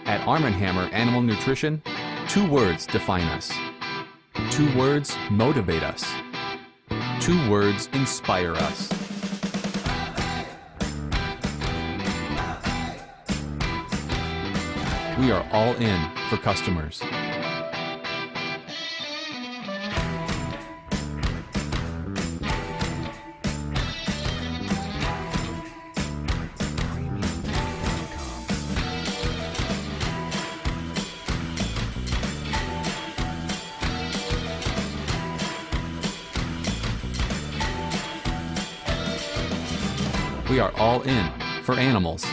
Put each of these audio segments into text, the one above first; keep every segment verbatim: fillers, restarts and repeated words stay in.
At Arm and Hammer Animal Nutrition, two words define us. Two words motivate us. Two words inspire us. We are all in for customers. We are all in for animals.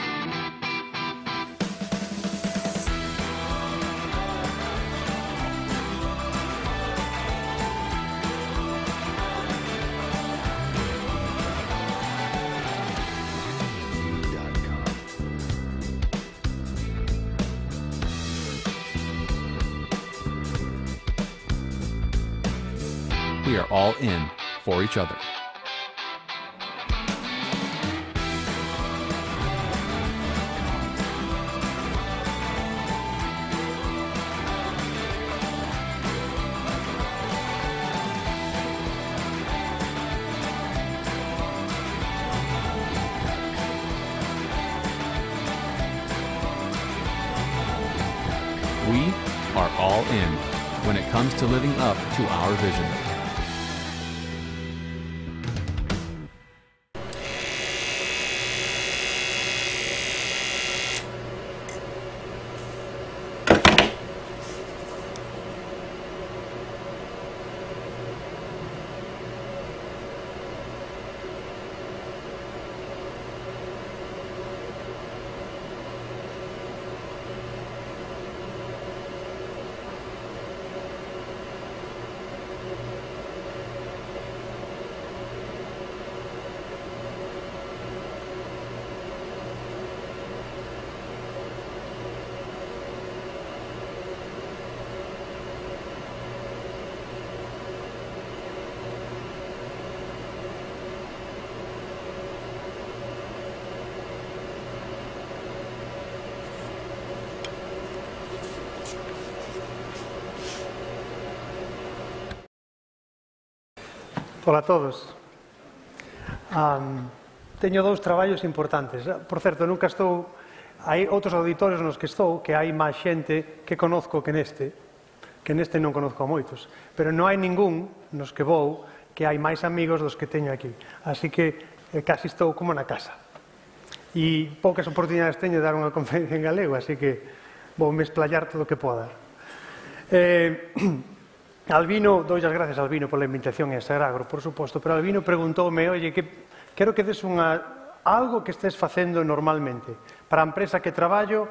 We are all in for each other. We are all in when it comes to living up to our vision. Ola a todos. Um, teño dous traballos importantes. Por certo, nunca estou... Hai outros auditorios nos que estou que hai máis xente que conozco que neste, que neste non conozco a moitos. Pero non hai ningún nos que vou que hai máis amigos dos que teño aquí. Así que eh, casi estou como na casa. E poucas oportunidades teño de dar unha conferencia en galego, así que vou me esplayar todo o que poda. Eh... Albino, doy as gracias a Albino pola invitación e a Sagragro, por suposto, pero Albino preguntoume, oye, que quero que des unha, algo que estés facendo normalmente. Para a empresa que traballo,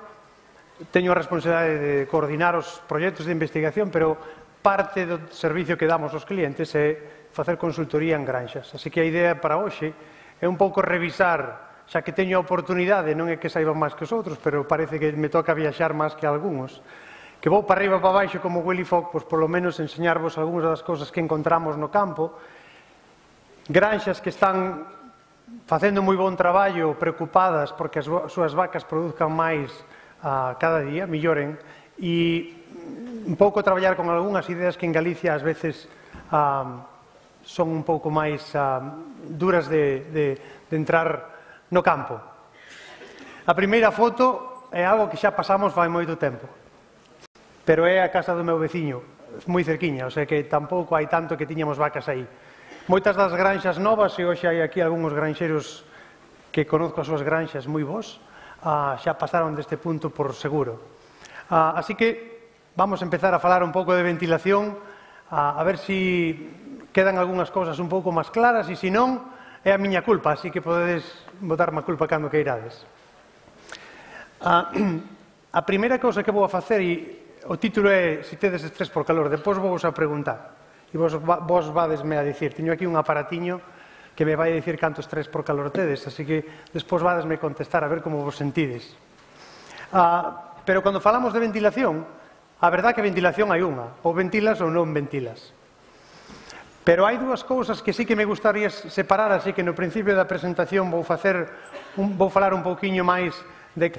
teño a responsabilidade de coordinar os proxectos de investigación, pero parte do servicio que damos aos clientes é facer consultoría en granxas. Así que a idea para hoxe é un pouco revisar, xa que teño a oportunidade, non é que saiban máis que os outros, pero parece que me toca viaxar máis que algúns, que vou para arriba e para baixo como Willy Fogg, pois polo menos enseñarvos algunhas das cousas que encontramos no campo, granxas que están facendo moi bon traballo, preocupadas porque as súas vacas produzcan máis uh, cada día, melloren, e un pouco traballar con algunhas ideas que en Galicia ás veces uh, son un pouco máis uh, duras de, de, de entrar no campo. A primeira foto é algo que xa pasamos fai moito tempo, pero é a casa do meu veciño, moi cerquiña, o sea que tampouco hai tanto que tiñamos vacas aí. Moitas das granxas novas, e hoxe hai aquí algúns granxeros que conozco as súas granxas moi bons, uh, xa pasaron deste punto por seguro. Uh, así que vamos a empezar a falar un pouco de ventilación, uh, a ver se quedan algunhas cousas un pouco máis claras, e se non, é a miña culpa, así que podedes botarme a culpa cando que irades. Uh, a primeira cousa que vou a facer, e o título é Se tedes estrés por calor, depois vou vos a preguntar e vos, vos vadesme a dicir, teño aquí un aparatiño que me vai a dicir canto estrés por calor tedes, así que despois vadesme contestar a ver como vos sentides. Ah, pero cando falamos de ventilación, a verdade que ventilación hai unha, ou ventilas ou non ventilas. Pero hai dúas cousas que sí que me gustaría separar, así que no principio da presentación vou facer un, vou falar un pouquiño máis de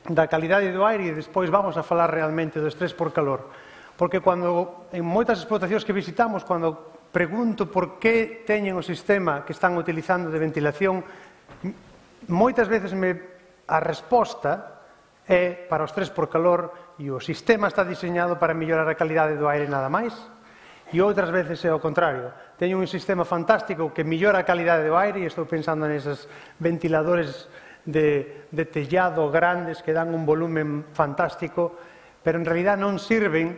da calidade do aire e despois vamos a falar realmente do estrés por calor. Porque cando, en moitas explotacións que visitamos, cando pregunto por que teñen o sistema que están utilizando de ventilación, moitas veces me, a resposta é para o estrés por calor e o sistema está diseñado para mellorar a calidade do aire nada máis, e outras veces é o contrario. Teño un sistema fantástico que mellora a calidade do aire e estou pensando neses ventiladores de, de tellado grandes que dan un volumen fantástico, pero en realidad non sirven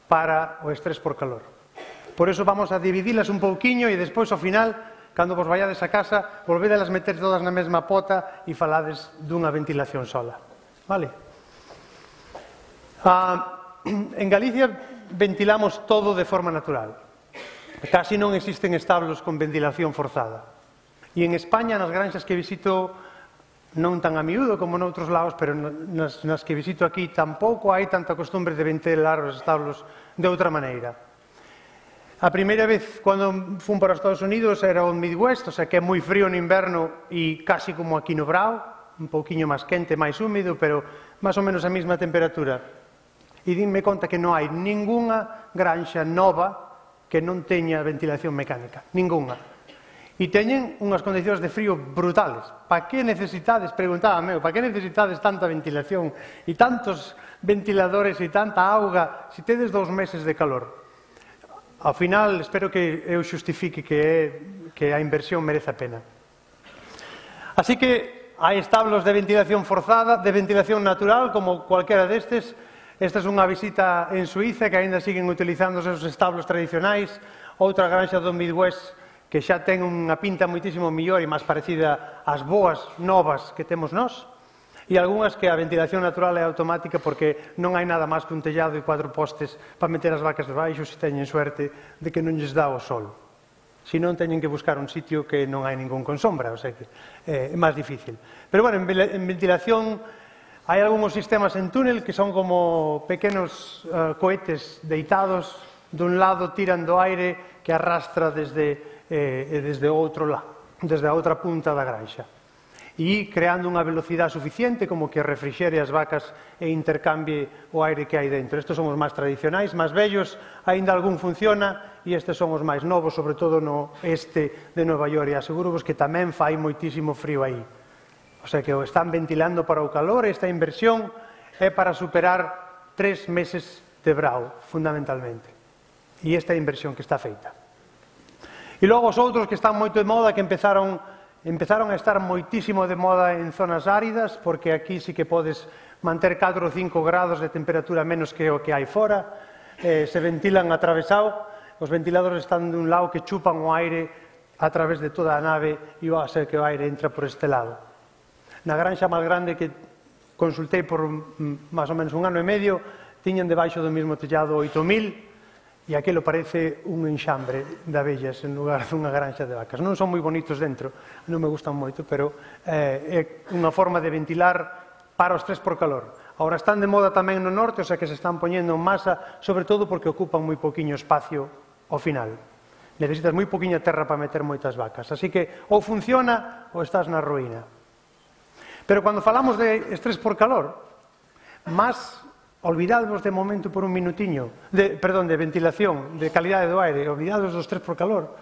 para o estrés por calor. Por iso vamos a dividilas un pouquiño e despois ao final, cando vos vayades a casa, volvedelas meter todas na mesma pota e falades dunha ventilación sola. Vale? Ah, en Galicia ventilamos todo de forma natural. Casi non existen establos con ventilación forzada. E en España, nas granxas que visito, non tan a miúdo como noutros lados, pero nas, nas que visito aquí tampouco hai tanta costumbre de ventilar os establos de outra maneira. A primeira vez, cando fun para os Estados Unidos, era o Midwest, o sea que é moi frío no inverno e casi como aquí no Brao, un pouquiño máis quente, máis húmido, pero máis ou menos a mesma temperatura. E dinme conta que non hai ningunha granxa nova que non teña ventilación mecánica, ningunha. E teñen unhas condicións de frío brutales. Pa que necesitades, preguntaba meu, pa que necesitades tanta ventilación e tantos ventiladores e tanta auga se tedes dous meses de calor? Ao final, espero que eu xustifique que, é, que a inversión merece a pena. Así que hai establos de ventilación forzada, de ventilación natural, como cualquera destes. Esta é unha visita en Suiza, que aínda siguen utilizando os seus establos tradicionais. Outra granxa do Midwest, que xa ten unha pinta moitísimo mellor e máis parecida ás boas novas que temos nós. E algunhas que a ventilación natural é automática porque non hai nada máis que un tellado e cuatro postes para meter as vacas debaixo se teñen suerte de que non lles dá o sol. Se non, teñen que buscar un sitio que non hai ningún con sombra, o sea que é máis difícil. Pero, bueno, en ventilación hai algúns sistemas en túnel que son como pequenos uh, cohetes deitados, dun lado tiran do aire que arrastra desde, eh, desde outro lado, desde a outra punta da granxa. E creando unha velocidade suficiente como que refrixere as vacas e intercambie o aire que hai dentro. Estes son os máis tradicionais, máis vellos, aínda algún funciona, e estes son os máis novos, sobre todo no este de Nova York, e aseguro-vos que tamén fai moitísimo frío aí. O sea que o están ventilando para o calor, e esta inversión é para superar tres meses de brao, fundamentalmente. E esta é a inversión que está feita. E logo os outros que están moito de moda, que empezaron Empezaron a estar moitísimo de moda en zonas áridas, porque aquí sí que podes manter catro ou cinco grados de temperatura menos que o que hai fora, eh, se ventilan atravesado, os ventiladores están dun lado que chupan o aire a través de toda a nave e o ser que o aire entra por este lado. Na granxa máis grande que consultei por máis ou menos un ano e medio, tiñan debaixo do mesmo tellado oito mil, e aquilo parece un enxambre de abellas en lugar dunha granxa de vacas. Non son moi bonitos dentro, non me gustan moito, pero eh, é unha forma de ventilar para o estrés por calor. Agora están de moda tamén no norte, o sea que se están poñendo en masa, sobre todo porque ocupan moi poquinho espacio ao final. Necesitas moi poquinha terra para meter moitas vacas. Así que ou funciona ou estás na ruína. Pero cando falamos de estrés por calor, máis olvidadvos de momento por un minutiño, de, perdón, de ventilación, de calidade do aire, olvidadvos do estrés por calor,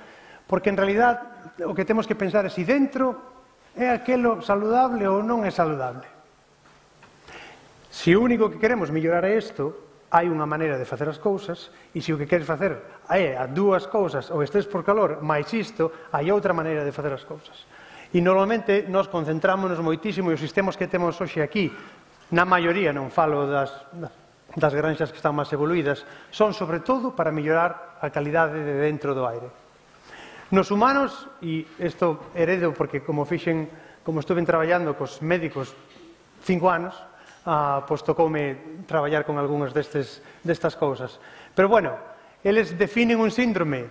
porque en realidad o que temos que pensar é se dentro é aquelo saludable ou non é saludable. Se o único que queremos mellorar é isto, hai unha maneira de facer as cousas, e se o que queres facer é a dúas cousas, o estrés por calor, máis isto, hai outra maneira de facer as cousas. E normalmente nos concentrámonos moitísimo e os sistemas que temos hoxe aquí, na maioría, non falo das, das granxas que están máis evoluídas, son sobre todo para mellorar a calidade de dentro do aire. Nos humanos, e isto heredo porque como fixen, como estuve traballando cos médicos cinco anos, ah, pois tocoume traballar con algunhas destes, destas cousas. Pero bueno, eles definen un síndrome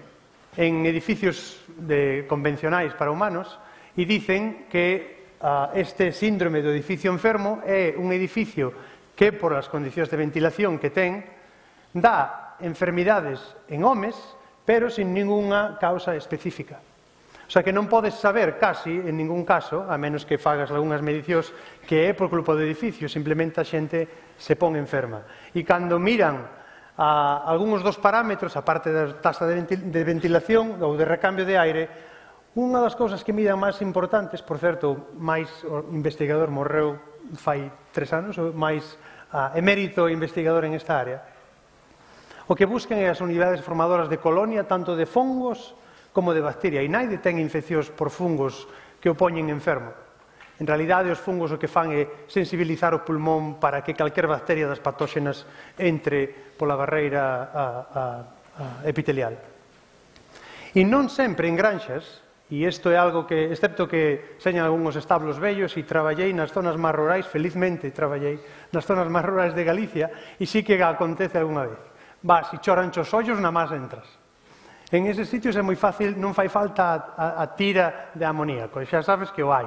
en edificios de, convencionais para humanos e dicen que Uh, este síndrome do edificio enfermo é un edificio que, por as condicións de ventilación que ten, dá enfermidades en homes, pero sin ningunha causa específica. O sea que non podes saber casi, en ningún caso, a menos que fagas algunhas medicións, que é por culpa do edificio, simplemente a xente se pon enferma. E cando miran a algúns dos parámetros, a parte da taxa de ventilación ou de recambio de aire, unha das cousas que miran máis importantes, por certo, máis o investigador morreu fai tres anos, o máis emérito investigador en esta área, o que buscan é as unidades formadoras de colonia, tanto de fongos como de bacteria, e naide ten infeccións por fungos que o poñen enfermo. En realidade, os fungos o que fan é sensibilizar o pulmón para que calquer bacteria das patóxenas entre pola barreira epitelial. E non sempre en granxas, e isto é algo que, excepto que señan algúns establos vellos, e traballei nas zonas máis rurais, felizmente traballei nas zonas máis rurais de Galicia, e sí que acontece algunha vez. Vas, e choran os ollos, na máis entras. En eses sitios é moi fácil, non fai falta a, a tira de amoníaco, xa sabes que o hai.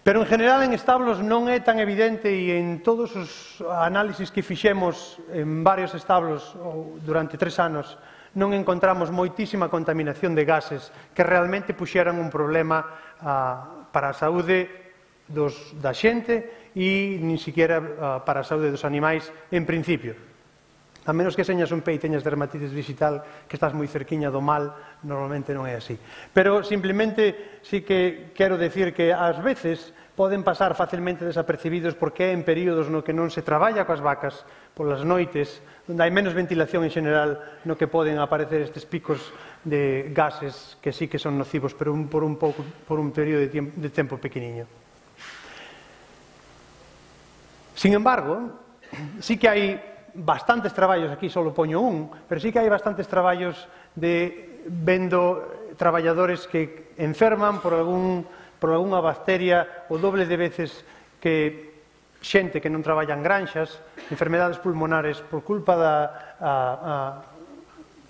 Pero en general en establos non é tan evidente, e en todos os análisis que fixemos en varios establos durante tres anos non encontramos moitísima contaminación de gases que realmente puxeran un problema a, para a saúde dos, da xente e nin siquiera a, para a saúde dos animais en principio. A menos que señas un pé e teñas dermatitis digital, que estás moi cerquiña do mal, normalmente non é así. Pero simplemente sí que quero decir que ás veces poden pasar facilmente desapercibidos porque é en períodos no que non se traballa coas vacas polas noites, onde hai menos ventilación en general, no que poden aparecer estes picos de gases que sí que son nocivos, pero un, por un pouco, por un período de, tiempo, de tempo pequeniño. Sin embargo, sí que hai bastantes traballos, aquí só poño un, pero sí que hai bastantes traballos de vendo traballadores que enferman por algún por algunha bacteria o doble de veces que xente que non traballa en granxas, enfermedades pulmonares por culpa da a, a,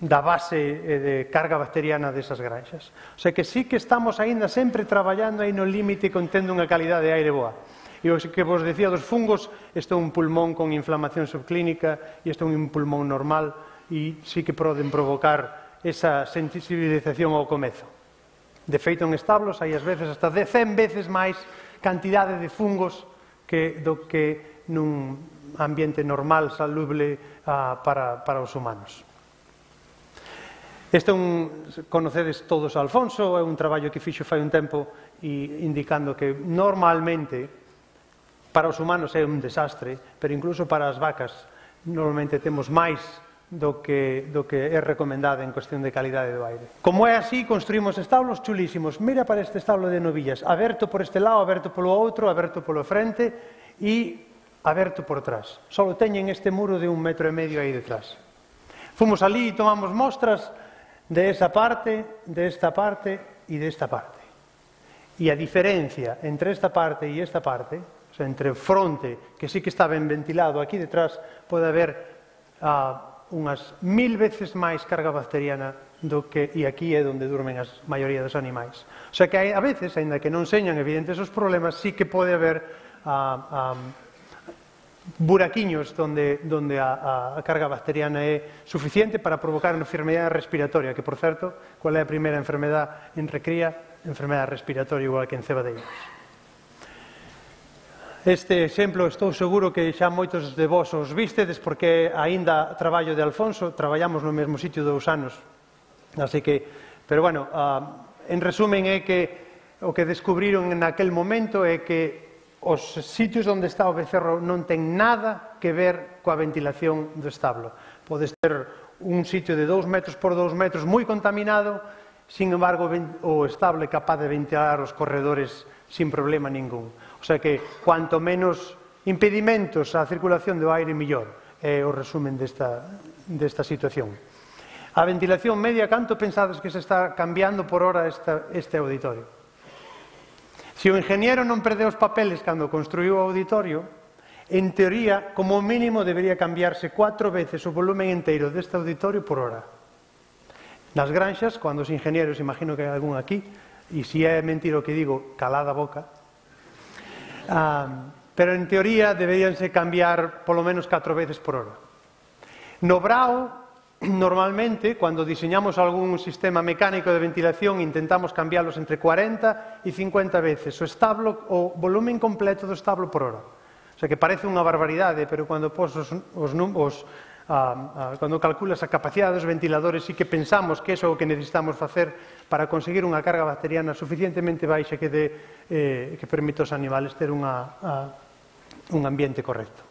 da base de carga bacteriana desas granxas. O sea que sí que estamos aínda sempre traballando aí no límite contendo unha calidade de aire boa. E o que vos decía dos fungos, isto é un pulmón con inflamación subclínica e isto é un pulmón normal e sí que poden provocar esa sensibilización ao comezo. De feito, en establos hai ás veces hasta de cen veces máis cantidade de fungos que do que nun ambiente normal, salubre uh, para, para os humanos. Este é un, conocedes todos a Alfonso, é un traballo que fixo fai un tempo e indicando que normalmente para os humanos é un desastre, pero incluso para as vacas normalmente temos máis do que, do que é recomendado en cuestión de calidade do aire. Como é así, construímos establos chulísimos. Mira para este establo de novillas, aberto por este lado, aberto polo outro, aberto polo frente e aberto por trás. Só teñen este muro de un metro e medio aí detrás. Fomos ali e tomamos mostras de esa parte, de esta parte e de esta parte. E a diferencia entre esta parte e esta parte, o sea, entre o fronte, que sí que está ben ventilado, aquí detrás pode haber uh, unhas mil veces máis carga bacteriana do que, e aquí é onde durmen a maioría dos animais. O sea que hai, a veces, aínda que non señan evidentes os problemas, sí que pode haber uh, um, buraquiños donde, donde a, a carga bacteriana é suficiente para provocar unha enfermedade respiratoria, que, por certo, qual é a primeira enfermedade en recría? Enfermedade respiratoria igual que en cebadeiros. Este exemplo estou seguro que xa moitos de vós os vistedes porque aínda traballo de Alfonso, traballamos no mesmo sitio dous anos, así que, pero bueno, uh, en resumen é que o que descubriron naquel momento é que os sitios onde está o becerro non ten nada que ver coa ventilación do establo. Podes ter un sitio de dous metros por dous metros moi contaminado, sin embargo o establo é capaz de ventilar os corredores sin problema ningún. O sea que, cuanto menos impedimentos á circulación do aire, mellor. É o resumen desta, desta situación. A ventilación media, canto pensades que se está cambiando por hora esta, este auditorio? Se o ingeniero non perdeu os papeles cando construiu o auditorio, en teoría, como mínimo, debería cambiarse cuatro veces o volumen inteiro deste auditorio por hora. Nas granxas, cando os ingenieros, imagino que hai algún aquí, e se é mentira o que digo, calada a boca, Um, pero en teoría deberíanse cambiar polo menos catro veces por hora. No brao normalmente, cando diseñamos algún sistema mecánico de ventilación, intentamos cambiarlos entre cuarenta e cincuenta veces o establo, o volumen completo do establo por hora. O sea, que parece unha barbaridade, pero cando pos os, os, os a, a, cando calculas a capacidade dos ventiladores, sí que pensamos que iso é o que necesitamos facer para conseguir unha carga bacteriana suficientemente baixa que, de, eh, que permite aos animales ter unha, a, un ambiente correcto.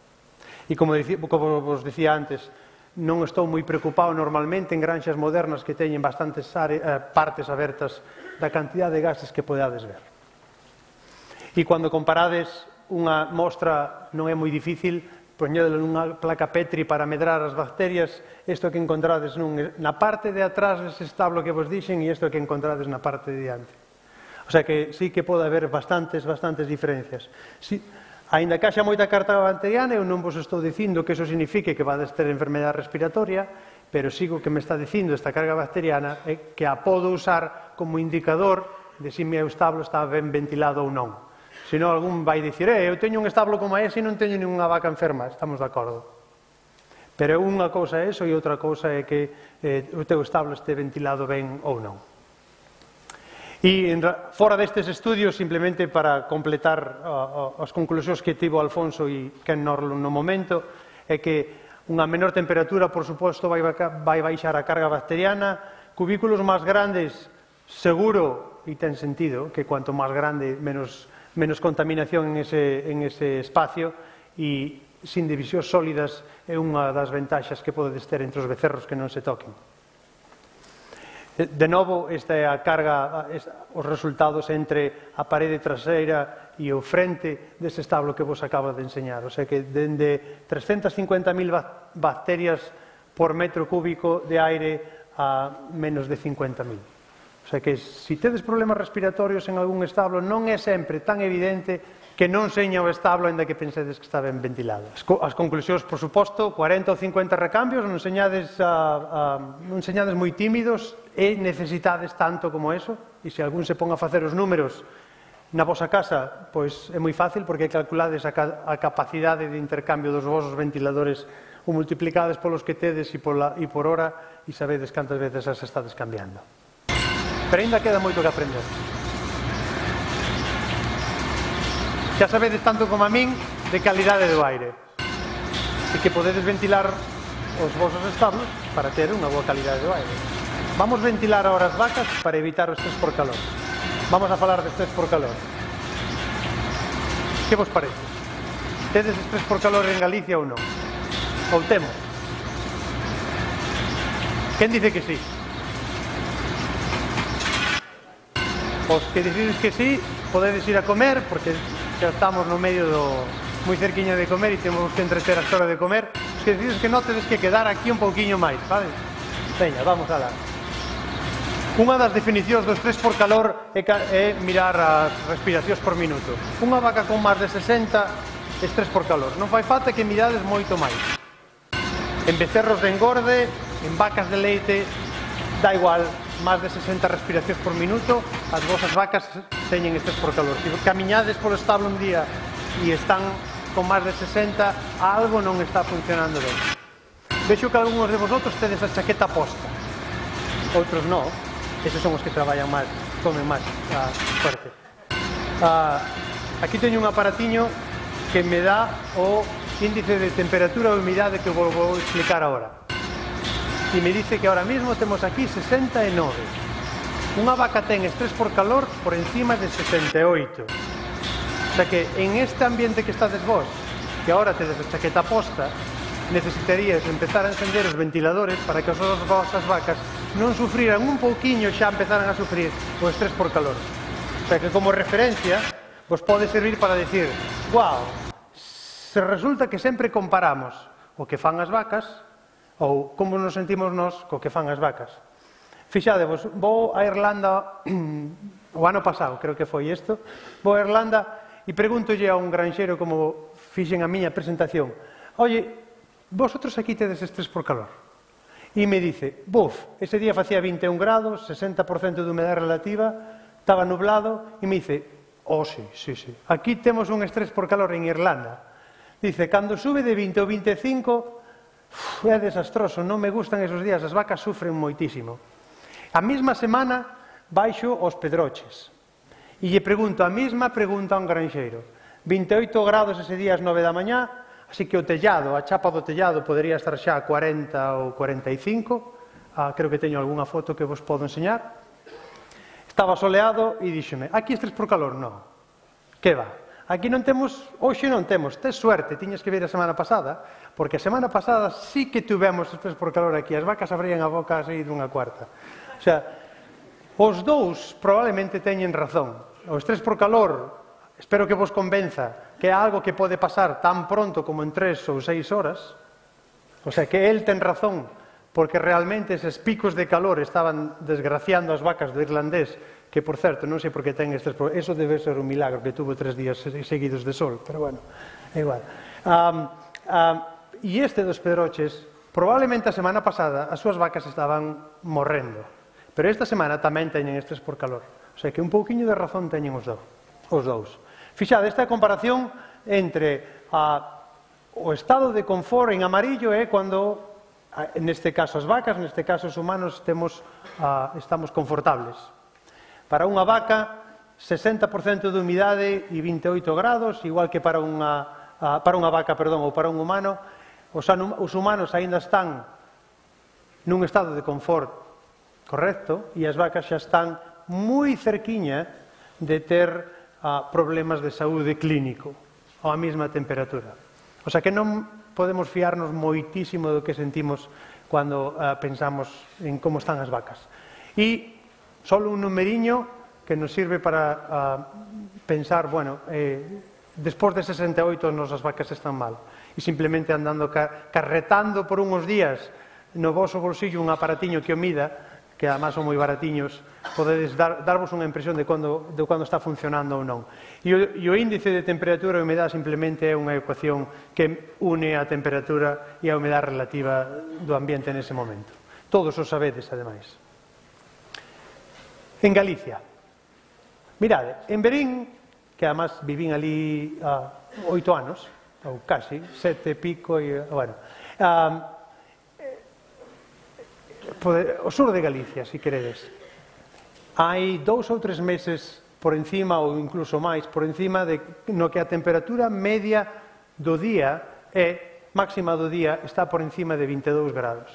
E como, dici, como vos dicía antes, non estou moi preocupado normalmente en granxas modernas que teñen bastantes are, eh, partes abertas da cantidad de gases que podades ver. E cando comparades unha mostra, non é moi difícil poñedelo nunha placa Petri para medrar as bacterias, isto que encontrades nun, na parte de atrás dese establo que vos dixen e isto que encontrades na parte de diante. O sea que sí que pode haber bastantes, bastantes diferencias. Si, Ainda que haxa moita carga bacteriana, eu non vos estou dicindo que iso signifique que vades ter enfermedade respiratoria, pero sigo que me está dicindo esta carga bacteriana é que a podo usar como indicador de se meu establo está ben ventilado ou non. Se non, algún vai dicir, eh, eu teño un establo como ese e non teño ninguna vaca enferma, estamos de acordo. Pero unha cousa é iso e outra cousa é que eh, o teu establo este ventilado ben ou non. E fora destes estudios, simplemente para completar uh, uh, as conclusións que tivo Alfonso e Ken Norlund no momento, é que unha menor temperatura, por suposto, vai, vai baixar a carga bacteriana. Cubículos máis grandes, seguro, e ten sentido, que cuanto máis grande, menos, menos contaminación en ese, en ese espacio, e sin divisións sólidas é unha das ventaxas que podedes ter entre os becerros que non se toquen. De novo, esta é a carga, os resultados entre a parede traseira e o frente dese establo que vos acabo de enseñar. O sea que dende trescentas cincuenta mil bacterias por metro cúbico de aire a menos de cincuenta mil. O sea que se tedes problemas respiratorios en algún establo, non é sempre tan evidente que non seña o establo, ainda que pensedes que está ben ventilado. As conclusións, por suposto, cuarenta ou cincuenta recambios, non señades, a, a, non señades moi tímidos e necesitades tanto como eso, e se algún se pon a facer os números na vosa casa, pois é moi fácil, porque calculades a, a capacidade de intercambio dos vosos ventiladores ou multiplicades polos que tedes e, pola, e por hora, e sabedes cantas veces as estades cambiando. Pero ainda queda moito que aprender. Xa sabedes tanto como a min de calidade do aire e que podedes ventilar os vosos establos para ter unha boa calidade do aire. Vamos ventilar ahora as vacas para evitar o estrés por calor. Vamos a falar de estrés por calor. Que vos parece? Tedes estrés por calor en Galicia ou non? Ou temos? Quen dice que sí? Os que decides que sí, podedes ir a comer, porque xa estamos no medio do moi cerquiño de comer e temos que entreter a hora de comer. Os que decides que non, tedes que quedar aquí un pouquiño máis, vale? Veña, vamos a dar. Unha das definicións do estrés por calor é, é mirar as respiracións por minuto. Unha vaca con máis de sesenta, estrés por calor. Non fai falta que mirades moito máis. En becerros de engorde, en vacas de leite, dá igual, máis de sesenta respiracións por minuto, as vosas vacas teñen estrés por calor. Se camiñades polo establo un día e están con máis de sesenta, algo non está funcionando ben. Vexo que algúns de vosotros tedes a chaqueta posta, outros non. Eses son os que traballan máis, comen máis ah, fuerte. Ah, aquí teño un aparatiño que me dá o índice de temperatura e humidade que vos vou explicar agora. E me dice que ahora mismo temos aquí sesenta e nove. Unha vaca ten estrés por calor por encima de sesenta e oito. O sea que en este ambiente que estades vos, que ahora tedes a chaqueta posta, necesitarías empezar a encender os ventiladores para que as vosas vacas non sufriran un pouquiño, xa empezaran a sufrir o estrés por calor. O sea que como referencia vos pode servir para decir, wow, se resulta que sempre comparamos o que fan as vacas ou como nos sentimos nós co que fan as vacas. Fixadevos, vou a Irlanda o ano pasado, creo que foi isto, vou a Irlanda e pregúntolle a un granxeiro como fixen a miña presentación, oye, vosotros aquí tedes estrés por calor? E me dice, buf, ese día facía vinte e un grados, sesenta por cento de humedade relativa, estaba nublado, e me dice, oh, sí, sí, sí, aquí temos un estrés por calor en Irlanda. Dice, cando sube de vinte ou vinte e cinco, é desastroso, non me gustan esos días, as vacas sufren moitísimo. A mesma semana baixo aos Pedroches e lle pregunto a mesma pregunta a un granxeiro. vinte e oito grados ese día ás nove da mañá, así que o tellado, a chapa do tellado podería estar xa a cuarenta ou cuarenta e cinco, ah, creo que teño algunha foto que vos podo enseñar. Estaba soleado e díxome, aquí estrés por calor? Non. Que va? Aquí non temos, hoxe non temos, tes suerte, tiñas que ver a semana pasada, porque a semana pasada sí que tuvemos estrés por calor aquí, as vacas abrían a boca así dunha cuarta. O sea, os dous probablemente teñen razón. O estrés por calor, espero que vos convenza que é algo que pode pasar tan pronto como en tres ou seis horas, o sea, que el ten razón, porque realmente eses picos de calor estaban desgraciando as vacas do irlandés, que, por certo, non sei por que ten estes problemas. Eso debe ser un milagro, que tuvo tres días seguidos de sol, pero bueno, é igual. Um, um, e este dos Pedroches, probablemente a semana pasada as súas vacas estaban morrendo, pero esta semana tamén teñen estrés por calor. O sea, que un pouquiño de razón teñen os, do, os dous. Fixade, esta comparación entre a, o estado de confort en amarillo é cando, neste caso as vacas, neste caso os humanos, temos, a, estamos confortables. Para unha vaca, sesenta por cento de humidade e vinte e oito grados, igual que para unha, para unha vaca, perdón, ou para un humano. Os, os humanos aínda están nun estado de confort correcto e as vacas xa están moi cerquiña de ter uh, problemas de saúde clínico á mesma temperatura. O sea que non podemos fiarnos moitísimo do que sentimos cando uh, pensamos en como están as vacas. E só un numeriño que nos sirve para uh, pensar, bueno, eh, despois de sesenta e oito nos as vacas están mal. E simplemente andando ca carretando por unhos días no voso bolsillo un aparatiño que o mida, que además son moi baratiños, podedes dar, darvos unha impresión de cando, de cando está funcionando ou non. E o, e o índice de temperatura e humedade simplemente é unha ecuación que une a temperatura e a humedade relativa do ambiente nese momento. Todos os sabedes, ademais. En Galicia, mirade, en Verín, que además vivín ali a oito anos, ou casi, sete e pico, e, bueno, um, o sur de Galicia, se queredes, hai dous ou tres meses por encima, ou incluso máis, por encima de no que a temperatura media do día é, máxima do día, está por encima de vinte e dous grados.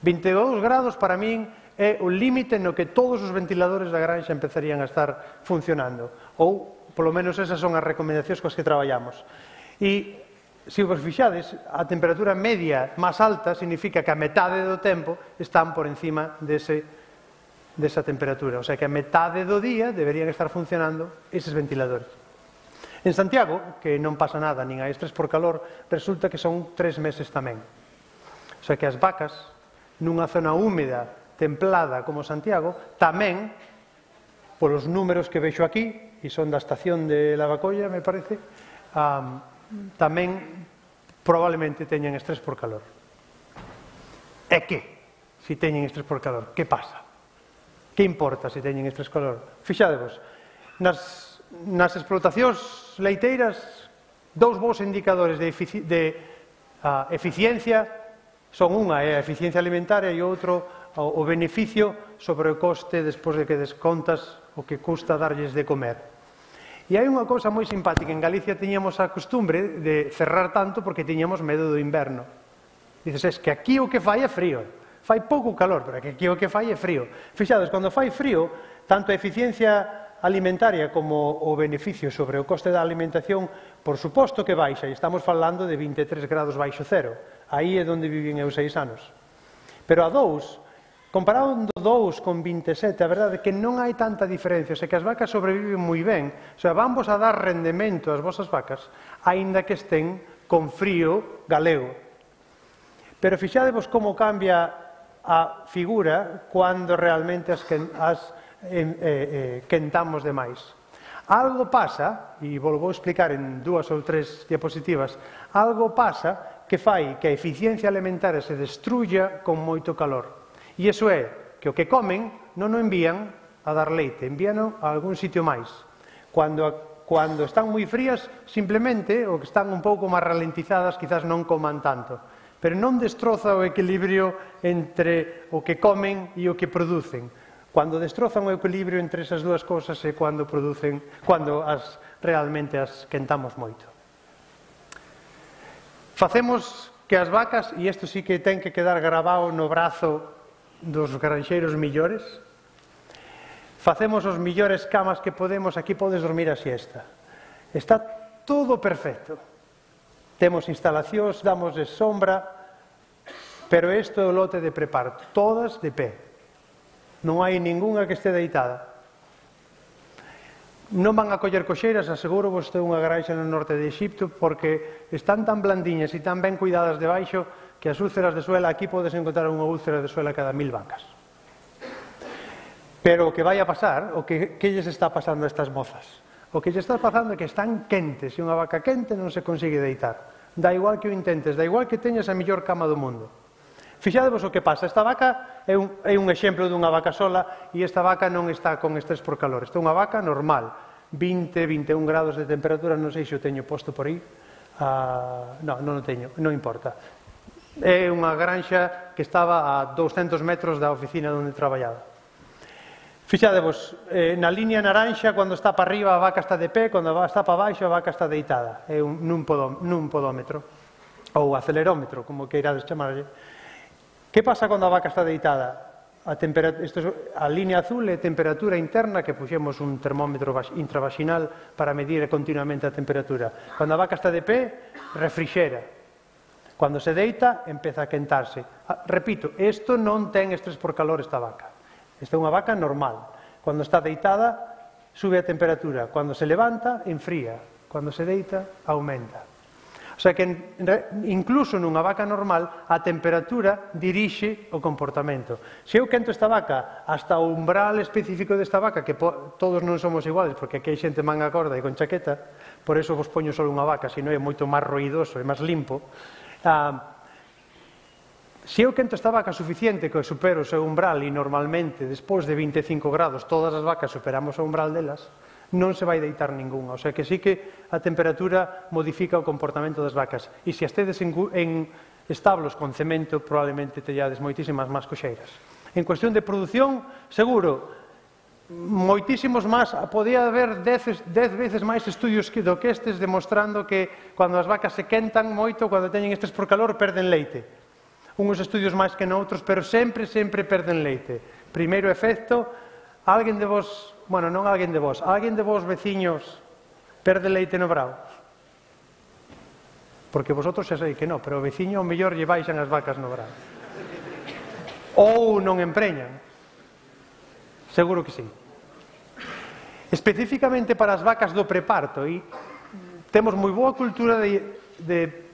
vinte e dous grados para min é o límite no que todos os ventiladores da granxa empezarían a estar funcionando, ou polo menos esas son as recomendacións coas que traballamos. E se vos fixades, a temperatura media máis alta significa que a metade do tempo están por encima dese, desa temperatura. O sea que a metade do día deberían estar funcionando eses ventiladores. En Santiago, que non pasa nada, nin hai estrés por calor, resulta que son tres meses tamén. O sea que as vacas, nunha zona húmeda, templada como Santiago, tamén, polos números que vexo aquí, e son da estación de Lavacolla, me parece, um, tamén probablemente teñen estrés por calor. E que? Se teñen estrés por calor, que pasa? Que importa se teñen estrés por calor? Fixadevos, nas, nas explotacións leiteiras, dous bons indicadores de, efici de uh, eficiencia son unha é a eficiencia alimentaria e outro o, o beneficio sobre o coste despois de que descontas o que custa darlles de comer. E hai unha cousa moi simpática, en Galicia tiñamos a costumbre de cerrar tanto porque tiñamos medo do inverno. Dices, es que aquí o que fai é frío, fai pouco calor, pero aquí o que fai é frío. Fixades, cando fai frío, tanto a eficiencia alimentaria como o beneficio sobre o coste da alimentación, por suposto que baixa, e estamos falando de vinte e tres grados baixo cero. Aí é onde vivín eu seis anos. Pero a dous, comparando dous con vinte e sete, a verdade é que non hai tanta diferencia, o sea que as vacas sobreviven moi ben, o sea, van vos a dar rendemento ás vosas vacas, aínda que estén con frío galego. Pero fixadevos como cambia a figura cando realmente as, as eh, eh, quentamos demais. Algo pasa, e volvo a explicar en dúas ou tres diapositivas, algo pasa que fai que a eficiencia alimentaria se destruya con moito calor. E iso é que o que comen non o envían a dar leite, envíano a algún sitio máis. Cando, cando están moi frías, simplemente, ou que están un pouco máis ralentizadas, quizás non coman tanto. pero non destroza o equilibrio entre o que comen e o que producen. Cando destrozan o equilibrio entre esas dúas cousas é cando producen, cando as realmente as quentamos moito. Facemos que as vacas, e isto sí que ten que quedar grabado no brazo dos granxeiros millores, facemos os millores camas que podemos, aquí podes dormir a siesta. Está todo perfecto. Temos instalacións, damos de sombra, pero isto é o lote de preparto, todas de pé. Non hai ningunha que este deitada. Non van a coller coxeiras, aseguro vos que é unha granxa no norte de Exipto, porque están tan blandiñas e tan ben cuidadas debaixo que as úlceras de suela, aquí podes encontrar unha úlcera de suela cada mil vacas. Pero o que vai a pasar, o que, que lles está pasando a estas mozas? O que lles está pasando é que están quentes, e unha vaca quente non se consigue deitar. Da igual que o intentes, da igual que teñas a mellor cama do mundo. Fixadevos o que pasa, esta vaca é un, é un exemplo dunha vaca sola e esta vaca non está con estrés por calor, esta é unha vaca normal, vinte, vinte e un grados de temperatura, non sei se o teño posto por aí, uh, non, non o teño, non importa. É unha granxa que estaba a douscentos metros da oficina onde traballaba. Fixadevos, eh, na línea naranxa, cando está para arriba a vaca está de pé, cando está para baixo a vaca está deitada, é un, nun, podó, nun podómetro, ou acelerómetro, como queirades chamarlle. Que pasa cando a vaca está deitada? A, isto, a línea azul é temperatura interna, que puxemos un termómetro intravaginal para medir continuamente a temperatura. Cando a vaca está de pé, refrixera. Cando se deita, empeza a quentarse. Ah, repito, isto non ten estrés por calor esta vaca. Esta é unha vaca normal. Cando está deitada, sube a temperatura. Cando se levanta, enfría. Cando se deita, aumenta. O sea que, incluso nunha vaca normal, a temperatura dirixe o comportamento. Se eu quento esta vaca hasta o umbral específico desta vaca, que todos non somos iguales, porque aquí hai xente manga corda e con chaqueta, por eso vos poño só unha vaca, senón é moito máis ruidoso e máis limpo. Ah, Se eu quento esta vaca suficiente que supero o seu umbral, e normalmente, despois de vinte e cinco grados, todas as vacas superamos o umbral delas, non se vai deitar ninguna. O sea que sí que a temperatura modifica o comportamento das vacas. E se as tedes en, en establos con cemento, probablemente tellades moitísimas máis coxeiras. En cuestión de produción, seguro, moitísimos máis, podía haber dez veces máis estudios do que estes demostrando que cando as vacas se quentan moito, cando teñen estes por calor, perden leite. Uns estudios máis que noutros, pero sempre, sempre perden leite. Primeiro efecto, alguén de vos, bueno, non alguén de vos, alguén de vos veciños perde leite no brao? Porque vosotros xa sei que non, pero o veciño ao mellor lle baixan as vacas no brao. Ou non empreñan. Seguro que sí. Especificamente para as vacas do preparto, e temos moi boa cultura de... de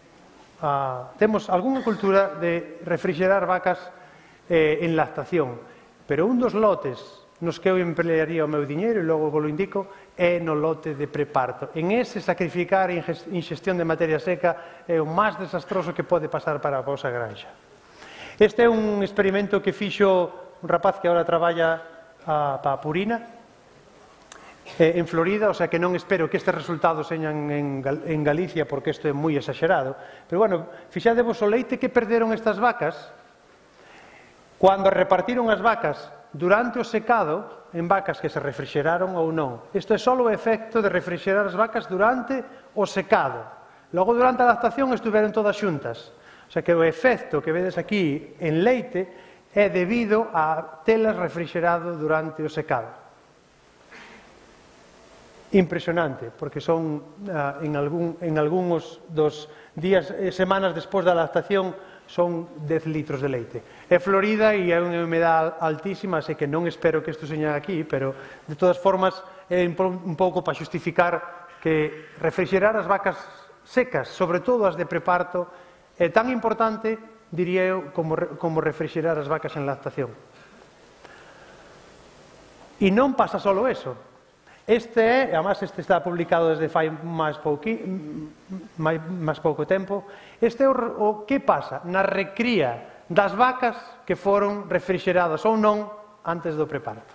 Uh, temos algunha cultura de refrigerar vacas eh, en lactación, pero un dos lotes nos que eu emplearía o meu diñeiro, e logo vos lo indico, é no lote de preparto. En ese, sacrificar a ingestión de materia seca é o máis desastroso que pode pasar para a vosa granxa. Este é un experimento que fixo un rapaz que agora traballa uh, para a Purina, en Florida, o sea que non espero que estes resultados señan en Galicia, porque isto é moi exagerado, pero bueno, fixadevos o leite que perderon estas vacas cando repartiron as vacas durante o secado en vacas que se refrixeraron ou non. Isto é só o efecto de refrixerar as vacas durante o secado. Logo, durante a lactación, estuveron todas xuntas. O sea que o efecto que vedes aquí en leite é debido a telas refrixerado durante o secado. Impresionante, porque son uh, en, algún, en algúns dos días e semanas despois da lactación son dez litros de leite. É Florida e é unha humedade altísima, así que non espero que isto seña aquí, pero de todas formas é un pouco para xustificar que refrixerar as vacas secas, sobre todo as de preparto, é tan importante, diría eu, como, como refrixerar as vacas en lactación. E non pasa solo eso. Este é, e además este está publicado desde fai máis, pouqui, máis, máis pouco tempo, este é o, o que pasa na recría das vacas que foron refrixeradas ou non antes do preparto.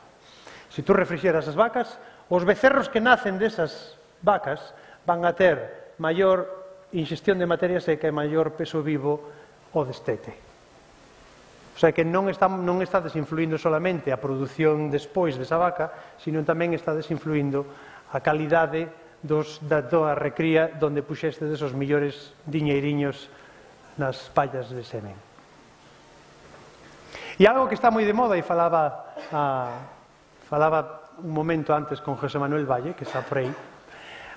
Se tú refrixeras as vacas, os becerros que nacen desas vacas van a ter maior ingestión de materia seca e maior peso vivo o destete. O sea que non, está, non estades influindo solamente a produción despois desa vaca, sino tamén estades influindo a calidade dos, da, da recría donde puxeste desos millores diñeiriños nas pallas de semen. E algo que está moi de moda, e falaba, a, falaba un momento antes con José Manuel Valle, que está por aí,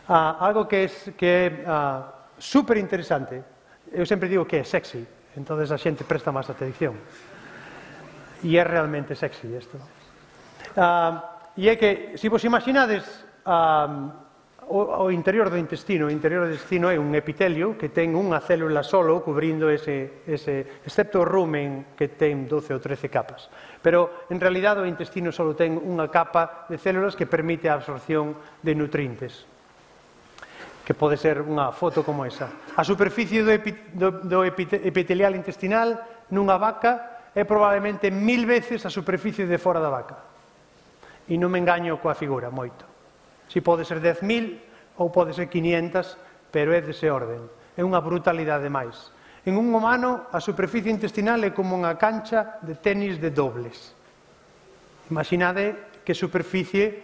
a, algo que, es, que é super interesante, eu sempre digo que é sexy, entonces a xente presta máis atención. E é realmente sexy isto. Uh, e é que, se vos imaginades uh, o, o interior do intestino, o interior do intestino é un epitelio que ten unha célula solo cubrindo ese, ese, excepto o rumen que ten doce ou trece capas. Pero, en realidad, o intestino solo ten unha capa de células que permite a absorción de nutrientes, que pode ser unha foto como esa. A superficie do, epi, do, do epitelial intestinal nunha vaca é probablemente mil veces a superficie de fora da vaca. E non me engaño coa figura moito. Si pode ser dez mil ou pode ser quinientas, pero é dese orden. É unha brutalidade máis. En un humano, a superficie intestinal é como unha cancha de tenis de dobles. Imaginade que superficie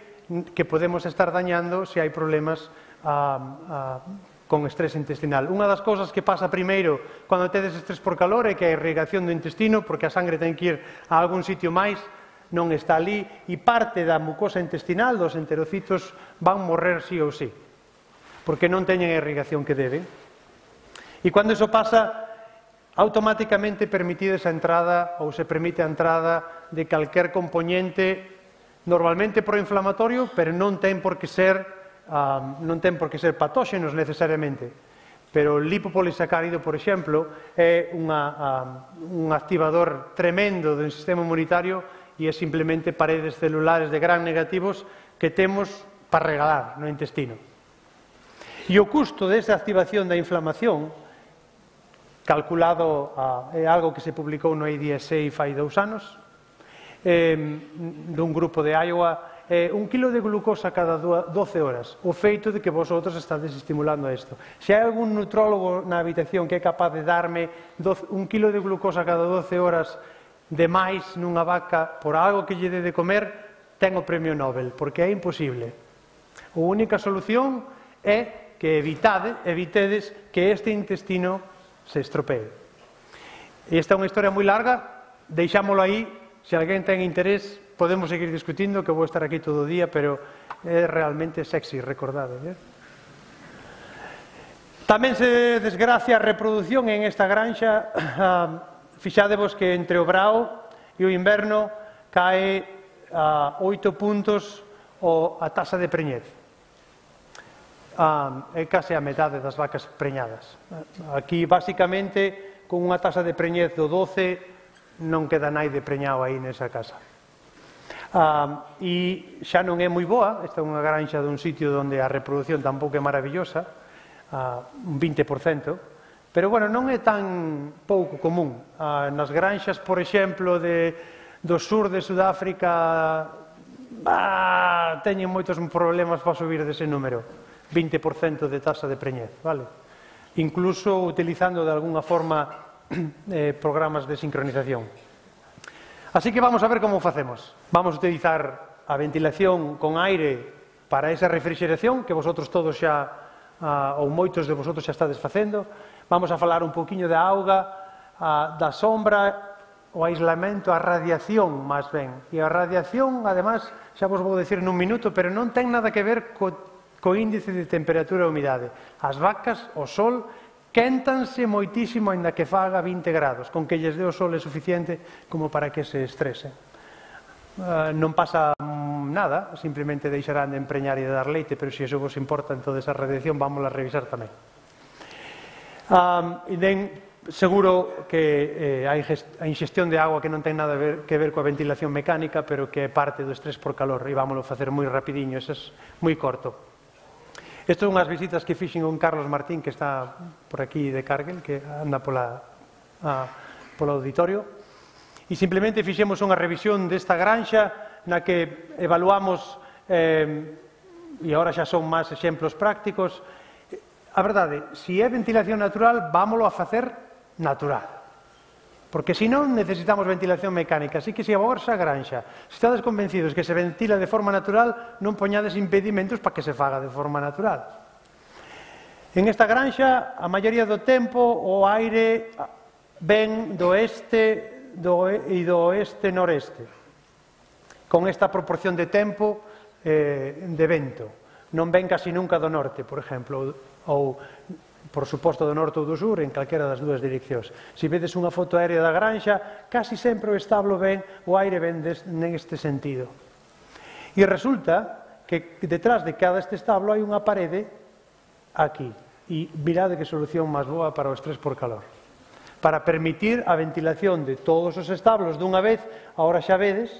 que podemos estar dañando se hai problemas a, a con estrés intestinal. Unha das cousas que pasa primeiro cando tedes estrés por calor é que a irrigación do intestino, porque a sangre ten que ir a algún sitio máis, non está ali, e parte da mucosa intestinal, dos enterocitos, van morrer sí ou sí, porque non teñen a irrigación que deben. E cando iso pasa, automáticamente permitides a entrada, ou se permite a entrada de calquer componente, normalmente proinflamatorio, pero non ten por que ser Uh, non ten por que ser patóxenos necesariamente, pero o lipopolisacárido, por exemplo, é unha, uh, un activador tremendo do sistema inmunitario e é simplemente paredes celulares de gran negativos que temos para regalar no intestino. E o custo desa activación da inflamación, calculado, uh, é algo que se publicou no A D S A fai dous anos, eh, dun grupo de Iowa, Eh, un kilo de glucosa cada doce horas, o feito de que vosotros estades estimulando isto. Se hai algún nutrólogo na habitación que é capaz de darme doce, un kilo de glucosa cada doce horas de máis nunha vaca por algo que lle dé de comer, ten o premio Nobel, porque é imposible. A única solución é que evitade, evitedes que este intestino se estropee. Esta é unha historia moi larga, deixámolo aí, se alguén ten interés, podemos seguir discutindo, que vou estar aquí todo o día, pero é realmente sexy, recordade. Eh? Tamén se desgracia a reproducción en esta granxa. Fixádevos que entre o brao e o inverno cae a oito puntos a taxa de preñez. É case a metade das vacas preñadas. Aquí, basicamente, con unha taxa de preñez do doce, non queda naide preñado aí nesa casa. Uh, e xa non é moi boa, esta é unha granxa dun sitio onde a reproducción tampouco é maravillosa, uh, un vinte por cento, pero bueno, non é tan pouco común. Uh, nas granxas, por exemplo, de, do sur de Sudáfrica, bah, teñen moitos problemas para subir dese número, vinte por cento de taxa de preñez, vale? Incluso utilizando de alguna forma eh, programas de sincronización. Así que vamos a ver como facemos. Vamos a utilizar a ventilación con aire para esa refrigeración que vosotros todos xa, uh, ou moitos de vosotros xa estades facendo. Vamos a falar un poquinho da auga, uh, da sombra, o aislamento, a radiación, máis ben. E a radiación, además, xa vos vou dicir nun minuto, pero non ten nada que ver co, co índice de temperatura e humidade. As vacas, o sol, quéntanse moitísimo aínda que faga vinte grados, con que lles dé o sol é suficiente como para que se estresen. Uh, non pasa nada, simplemente deixarán de empreñar e de dar leite, pero se iso vos importa, entón esa radiación vamos a revisar tamén. Um, e den, seguro que eh, a ingestión de agua que non ten nada ver, que ver coa ventilación mecánica, pero que é parte do estrés por calor, e vámoslo facer moi rapidiño, eso é moi corto. Isto é unhas visitas que fixen con Carlos Martín, que está por aquí de Cargill, que anda pola, a, polo auditorio, e simplemente fixemos unha revisión desta granxa na que evaluamos, eh, e agora xa son máis exemplos prácticos. A verdade, se é ventilación natural, vámolo a facer natural. Porque se non necesitamos ventilación mecánica. Así que se a vosa granxa, se estades convencidos que se ventila de forma natural, non poñades impedimentos para que se faga de forma natural. En esta granxa, a maioría do tempo, o aire ven do este e do oeste-noreste, con esta proporción de tempo de vento. Non ven casi nunca do norte, por exemplo, ou, por suposto, do norte ou do sur, en calquera das dúas direccións. Se vedes unha foto aérea da granxa, casi sempre o establo ven, o aire ven neste sentido. E resulta que detrás de cada este establo hai unha parede aquí. E mirade que solución máis boa para o estrés por calor. Para permitir a ventilación de todos os establos dunha vez, agora xa vedes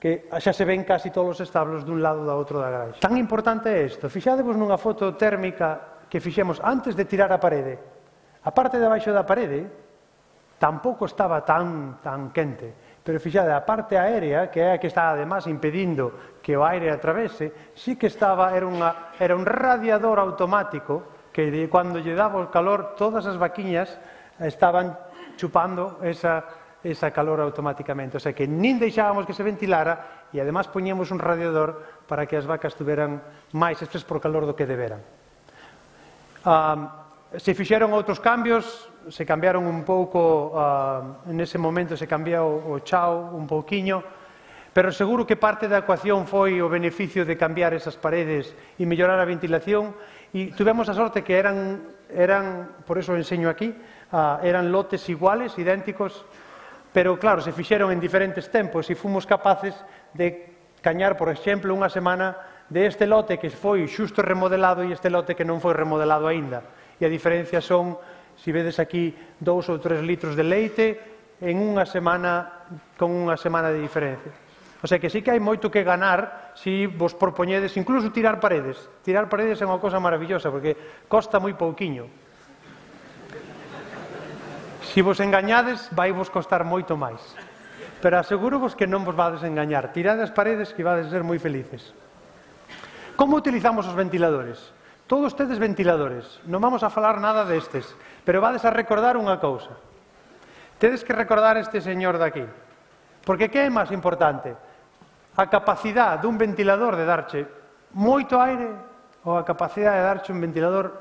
que xa se ven casi todos os establos dun lado da outro da granxa. Tan importante é isto. Fixadevos nunha foto térmica que fixemos antes de tirar a parede. A parte de abaixo da parede tampouco estaba tan, tan quente, pero fixade, a parte aérea, que é a que está además impedindo que o aire atravese, sí que estaba, era, unha, era un radiador automático que de, cando lle daba o calor, todas as vaquiñas estaban chupando esa, esa calor automáticamente. O sea que nin deixábamos que se ventilara e además poñíamos un radiador para que as vacas tuveran máis estrés por calor do que deberan. Um, se fixeron outros cambios, se cambiaron un pouco, uh, en ese momento se cambiou o chao un pouquiño, pero seguro que parte da ecuación foi o beneficio de cambiar esas paredes e mellorar a ventilación, e tuvemos a sorte que eran, eran por eso o enseño aquí, uh, eran lotes iguales, idénticos, pero claro, se fixeron en diferentes tempos e fomos capaces de cañar, por exemplo, unha semana de este lote que foi xusto remodelado e este lote que non foi remodelado aínda. E a diferencia son, se vedes aquí, dous ou tres litros de leite en unha semana, con unha semana de diferencia. O sea que sí que hai moito que ganar se vos propoñedes, incluso tirar paredes. Tirar paredes é unha cosa maravillosa, porque costa moi pouquiño. Se vos engañades, vai vos costar moito máis. Pero aseguro-vos que non vos vades engañar. Tirade as paredes que vades ser moi felices. Como utilizamos os ventiladores? Todos tedes ventiladores. Non vamos a falar nada destes, pero vades a recordar unha cousa. Tedes que recordar este señor daqui. Porque que é máis importante? A capacidade dun ventilador de darche moito aire ou a capacidade de darche un ventilador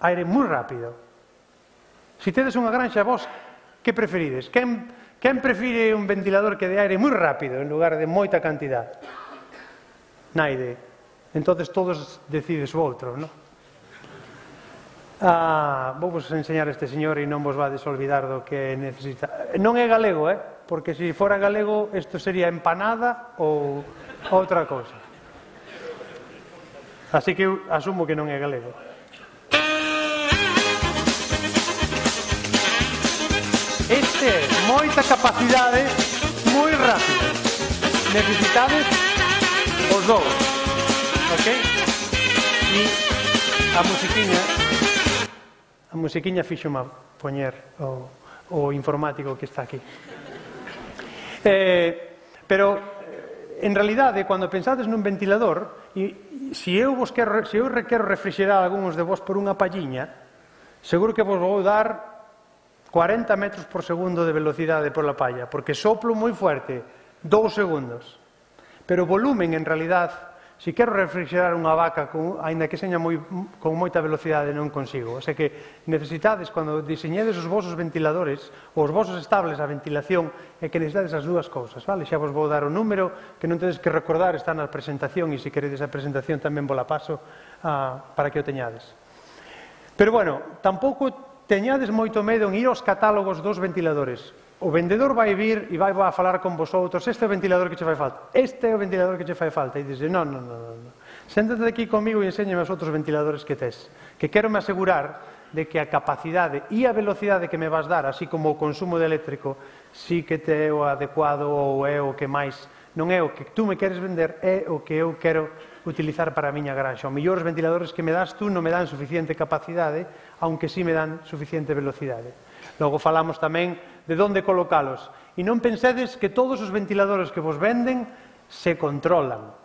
aire moi rápido. Se tedes unha granxa, vos, que preferides? Quen, quen prefire un ventilador que de aire moi rápido en lugar de moita cantidad? Naide. Entonces todos decides o outro, non? Ah, vou vos enseñar este señor e non vos vades olvidar do que necesita. Non é galego, eh? Porque se fora galego, isto sería empanada ou outra cousa. Así que eu asumo que non é galego. Este é moita capacidade, moi rápido. Necesitades os dous, ok? E a musiquiña, a musiquiña fixo-me poñer o, o informático que está aquí. Eh, pero, en realidade, cando pensades nun ventilador, e se eu vos quero, se eu quero refrixerar algúns de vos por unha palliña, seguro que vos vou dar cuarenta metros por segundo de velocidade pola palla, porque soplo moi fuerte, dous segundos. Pero o volumen, en realidad, se quero refrixerar unha vaca, con, ainda que seña moi, con moita velocidade, non consigo. O sea que necesitades, cando diseñedes os vosos ventiladores, ou os vosos estables a ventilación, é que necesitades as dúas cousas, vale? Xa vos vou dar o número, que non tedes que recordar, está na presentación, e se queredes a presentación tamén vos la paso uh, para que o teñades. Pero, bueno, tampouco teñades moito medo en ir aos catálogos dos ventiladores. O vendedor vai vir e vai a falar con vosotros, este é o ventilador que che fai falta, este é o ventilador que che fai falta, e dices, non, non, non, non. Séntate aquí comigo e enséñame os outros ventiladores que tes, que quero me asegurar de que a capacidade e a velocidade que me vas dar, así como o consumo de eléctrico, sí que te é o adecuado ou é o que máis, non é o que tú me queres vender, é o que eu quero utilizar para a miña granxa. O mellor os ventiladores que me das tú non me dan suficiente capacidade, aunque sí me dan suficiente velocidade. Logo falamos tamén de onde colocalos. E non pensedes que todos os ventiladores que vos venden se controlan.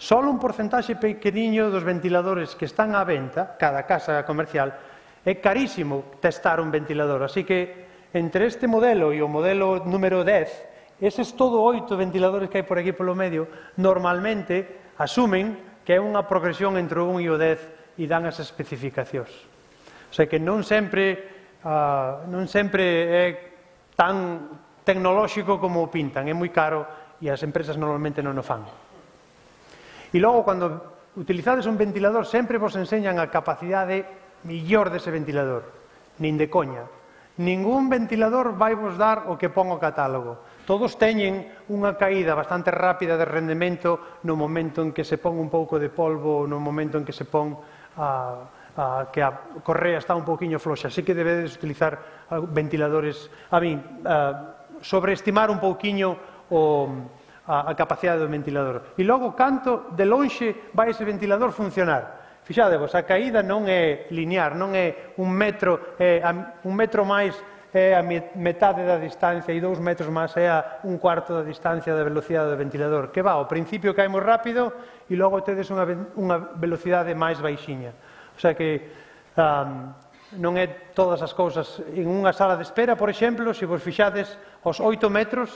Só un porcentaxe pequeniño dos ventiladores que están á venta, cada casa comercial, é carísimo testar un ventilador. Así que entre este modelo e o modelo número dez, eses todo oito ventiladores que hai por aquí polo medio, normalmente asumen que é unha progresión entre o un e o dez e dan as especificacións. O sea que non sempre, uh, non sempre é tan tecnolóxico como o pintan, é moi caro e as empresas normalmente non o fan. E logo, cando utilizades un ventilador, sempre vos enseñan a capacidade millor dese ventilador, nin de coña. Ningún ventilador vai vos dar o que pon o catálogo. Todos teñen unha caída bastante rápida de rendemento no momento en que se pon un pouco de polvo, no momento en que se pon a, a, que a correa está un pouquiño floxa. Así que debedes utilizar ventiladores, a mí, a, sobreestimar un pouquiño o, a, a capacidade do ventilador. E logo, canto de lonxe vai ese ventilador funcionar. Fixadevos, a caída non é linear, non é un metro, é un metro máis é a metade da distancia e dous metros máis é a un cuarto da distancia da velocidade do ventilador. Que va, ao principio caemos rápido e logo tedes unha, unha velocidade máis baixiña. O sea que um, non é todas as cousas. En unha sala de espera, por exemplo, se vos fixades aos oito metros,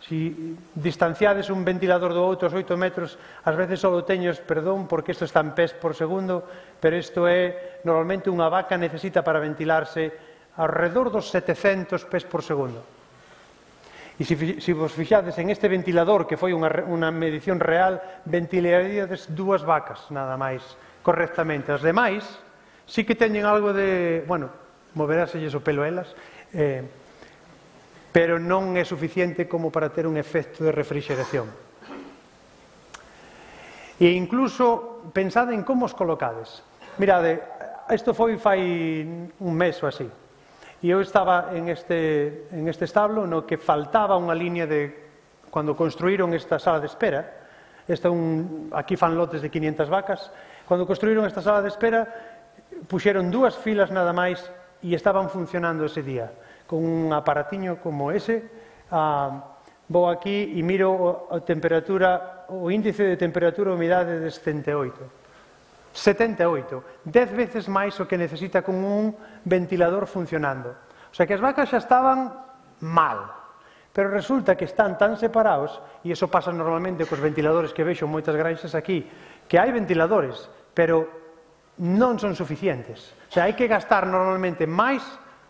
si distanciades un ventilador do outro aos oito metros, ás veces só teños, perdón, porque isto está en pés por segundo, pero isto é, normalmente unha vaca necesita para ventilarse alrededor dos setecentos pés por segundo. E se, se vos fixades en este ventilador, que foi unha, unha medición real, ventilaríades dúas vacas, nada máis, correctamente. As demais, sí que teñen algo de, bueno, moveráselles o pelo elas, eh, pero non é suficiente como para ter un efecto de refrigeración. E incluso, pensade en como os colocades. Mirade, isto foi fai un mes ou así, e eu estaba en este, en este establo no que faltaba unha línea de, cando construíron esta sala de espera, esta un, aquí fan lotes de quinientas vacas, cando construíron esta sala de espera, puxeron dúas filas nada máis e estaban funcionando ese día. Con un aparatiño como ese, ah, vou aquí e miro a temperatura, o índice de temperatura e humidade de setenta e oito. setenta e oito, dez veces máis o que necesita con un ventilador funcionando. O sea que as vacas xa estaban mal, pero resulta que están tan separados, e iso pasa normalmente cos ventiladores que vexo moitas granxas aquí, que hai ventiladores, pero non son suficientes. O sea, hai que gastar normalmente máis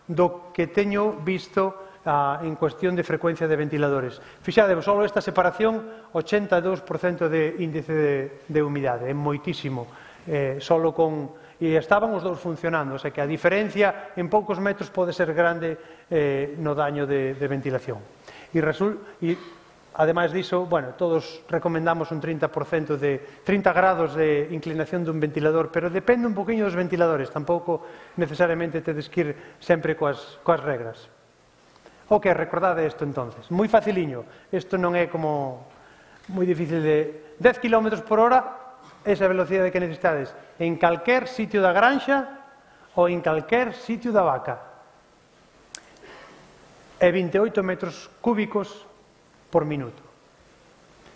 do que teño visto uh, en cuestión de frecuencia de ventiladores. Fixadevos, só esta separación, ochenta e dous por cento de índice de, de humidade, é moitísimo. Eh, solo con... E estaban os dous funcionando, o sea que a diferencia en poucos metros pode ser grande eh, no daño de, de ventilación. E, resul... e ademais diso, bueno, todos recomendamos un trinta por cento de trinta grados de inclinación dun ventilador, pero depende un poquinho dos ventiladores, tampouco necesariamente tedes que ir sempre coas, coas regras. Ok, recordade isto entonces, moi faciliño, isto non é como moi difícil de dez kilómetros por hora, esa velocidade que necesitades en calquer sitio da granxa ou en calquer sitio da vaca. E vinte e oito metros cúbicos por minuto.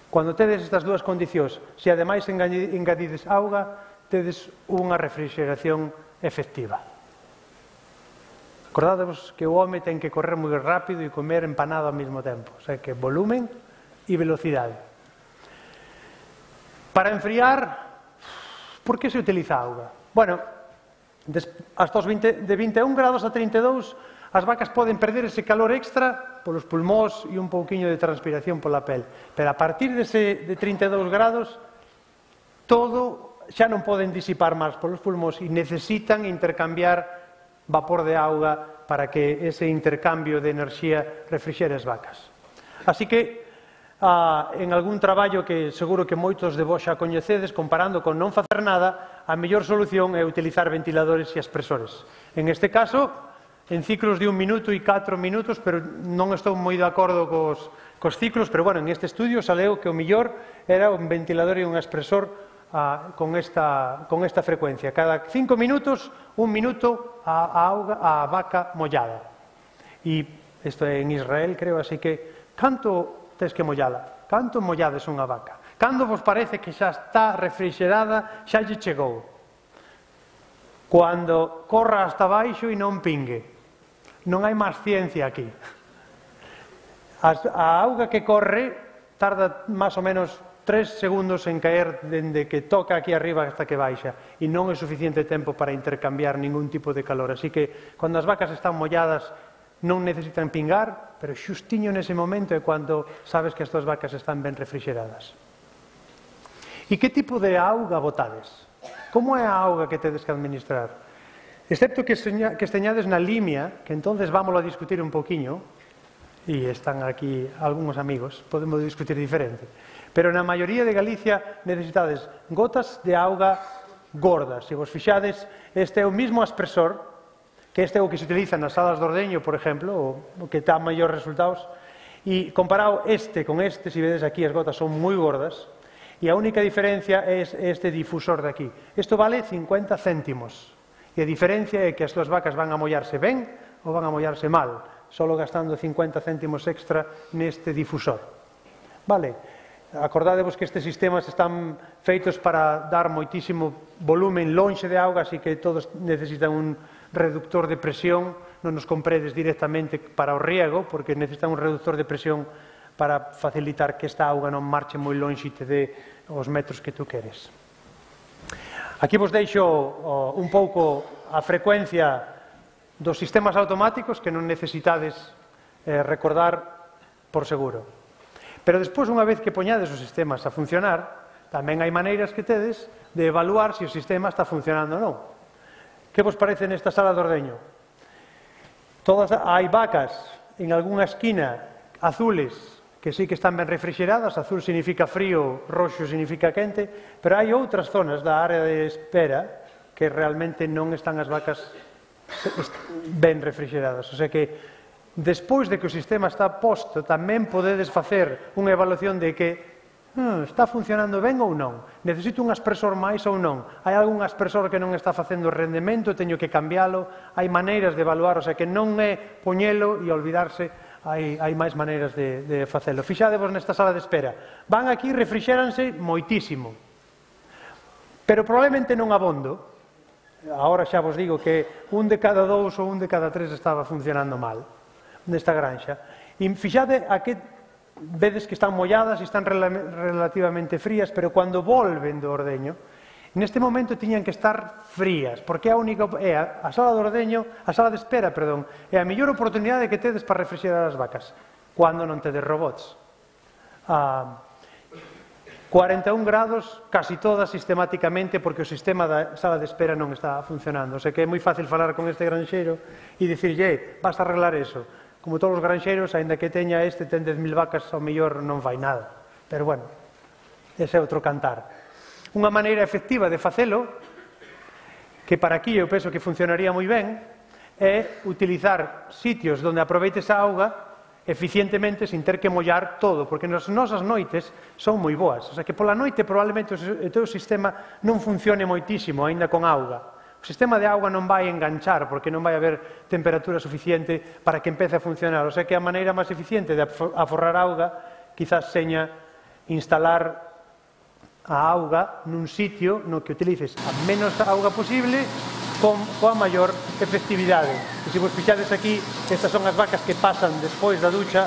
Cando tedes estas dúas condicións, se ademais engadides auga, tedes unha refrigeración efectiva. Acordádevos que o home ten que correr moi rápido e comer empanado ao mesmo tempo, o sea que volumen e velocidade. Para enfriar, por que se utiliza auga? Bueno, hasta os vinte, de vinte e un grados a trinta e dous, as vacas poden perder ese calor extra polos pulmóns e un pouquiño de transpiración pola pel. Pero a partir dese, de trinta e dous grados, todo xa non poden disipar máis polos pulmóns e necesitan intercambiar vapor de auga para que ese intercambio de enerxía refrixere as vacas. Así que, ah, en algún traballo que seguro que moitos de vos xa coñecedes, comparando con non facer nada, a mellor solución é utilizar ventiladores e expresores. En este caso, en ciclos de un minuto e catro minutos, pero non estou moi de acordo cos, cos ciclos, pero bueno, en este estudio saleu que o mellor era un ventilador e un expresor ah, con, esta, con esta frecuencia. Cada cinco minutos, un minuto a, a, auga, a vaca mollada. E isto é en Israel, creo, así que canto tes que mollala? Canto mollades unha vaca? Cando vos parece que xa está refrigerada, xa lle chegou? Cando corra hasta baixo e non pingue. Non hai máis ciencia aquí. A auga que corre tarda máis ou menos tres segundos en caer dende que toca aquí arriba hasta que baixa, e non é suficiente tempo para intercambiar ningún tipo de calor. Así que, cando as vacas están molladas, non necesitan pingar, pero xustiño nese momento é cando sabes que as túas vacas están ben refrigeradas. E que tipo de auga botades? Como é a auga que tedes que administrar? Excepto que esteñades na limia, que entonces vámoslo a discutir un poquinho, e están aquí algúns amigos, podemos discutir diferente. Pero na maioría de Galicia necesitades gotas de auga gordas. Se vos fixades, este é o mismo aspersor, que este é o que se utiliza nas salas de ordeño, por exemplo, o que dá maiores resultados, e comparado este con este, se vedes aquí as gotas son moi gordas, e a única diferencia é este difusor de aquí. Isto vale cincuenta céntimos, e a diferencia é que as túas vacas van a mollarse ben ou van a mollarse mal, solo gastando cincuenta céntimos extra neste difusor. Vale? Acordádevos que estes sistemas están feitos para dar moitísimo volumen lonxe de auga, así que todos necesitan un reductor de presión, non nos compredes directamente para o riego, porque necesitan un reductor de presión para facilitar que esta auga non marche moi lonxe e te dé os metros que tú queres. Aquí vos deixo un pouco a frecuencia dos sistemas automáticos que non necesitades recordar por seguro. Pero despois, unha vez que poñades os sistemas a funcionar, tamén hai maneiras que tedes de evaluar se o sistema está funcionando ou non. Que vos parece nesta sala de ordeño? Todas hai vacas en algunha esquina azules que sí que están ben refrigeradas, azul significa frío, roxo significa quente, pero hai outras zonas da área de espera que realmente non están as vacas ben refrigeradas. O sea que despois de que o sistema está posto, tamén podedes facer unha evaluación de que hmm, está funcionando ben ou non, necesito un aspersor máis ou non, hai algún aspersor que non está facendo rendemento, teño que cambiálo, hai maneiras de evaluar, o sea que non é poñelo e olvidarse, hai, hai máis maneiras de, de facelo. Fixadevos nesta sala de espera, van aquí, refrixéranse moitísimo, pero probablemente non abondo. Agora xa vos digo que un de cada dous ou un de cada tres estaba funcionando mal nesta granxa. E fixade a que vedes que están molladas e están relativamente frías, pero cando volven do ordeño, neste momento tiñan que estar frías, porque a única é a sala de ordeño, a sala de espera, perdón, é a mellor oportunidade que tedes para refrixerar as vacas, cando non tedes robots. A cuarenta e un grados, casi todas sistemáticamente, porque o sistema da sala de espera non está funcionando. O sea que é moi fácil falar con este granxeiro e dicirlle, vas a arreglar eso. Como todos os granxeiros, aínda que teña este, ten dez mil vacas, ao mellor non fai nada. Pero, bueno, ese é outro cantar. Unha maneira efectiva de facelo, que para aquí eu penso que funcionaría moi ben, é utilizar sitios onde aproveites a auga eficientemente sin ter que mollar todo, porque nas nosas noites son moi boas. O sea que pola noite probablemente o teu sistema non funcione moitísimo, aínda con auga. O sistema de auga non vai enganchar porque non vai haber temperatura suficiente para que empece a funcionar. O sea que a maneira máis eficiente de aforrar auga quizás seña instalar a auga nun sitio no que utilices a menos auga posible con coa maior efectividade. E se vos fixades aquí, estas son as vacas que pasan despois da ducha,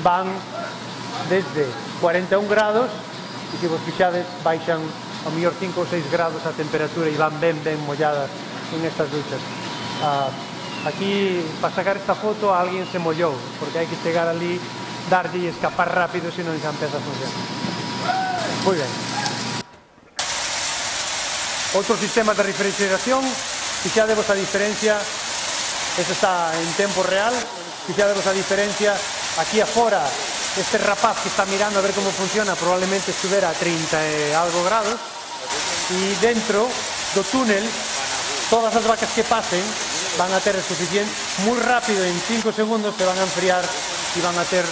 van desde cuarenta e un grados e se vos fixades baixan ao mellor cinco ou seis grados a temperatura e van ben, ben molladas en estas duchas. Ah, aquí, para sacar esta foto, alguén se mollou, porque hai que chegar ali, darlle e escapar rápido, senón xa empeza a funcionar. Moi ben. Outros sistemas de refrigeración, fixadevos a diferencia, este está en tempo real, fixadevos a diferencia, aquí afora, este rapaz que está mirando a ver como funciona probablemente estuvera a trinta e algo grados, e dentro do túnel todas as vacas que pasen van a ter suficiente, moi rápido, en cinco segundos se van a enfriar e van a ter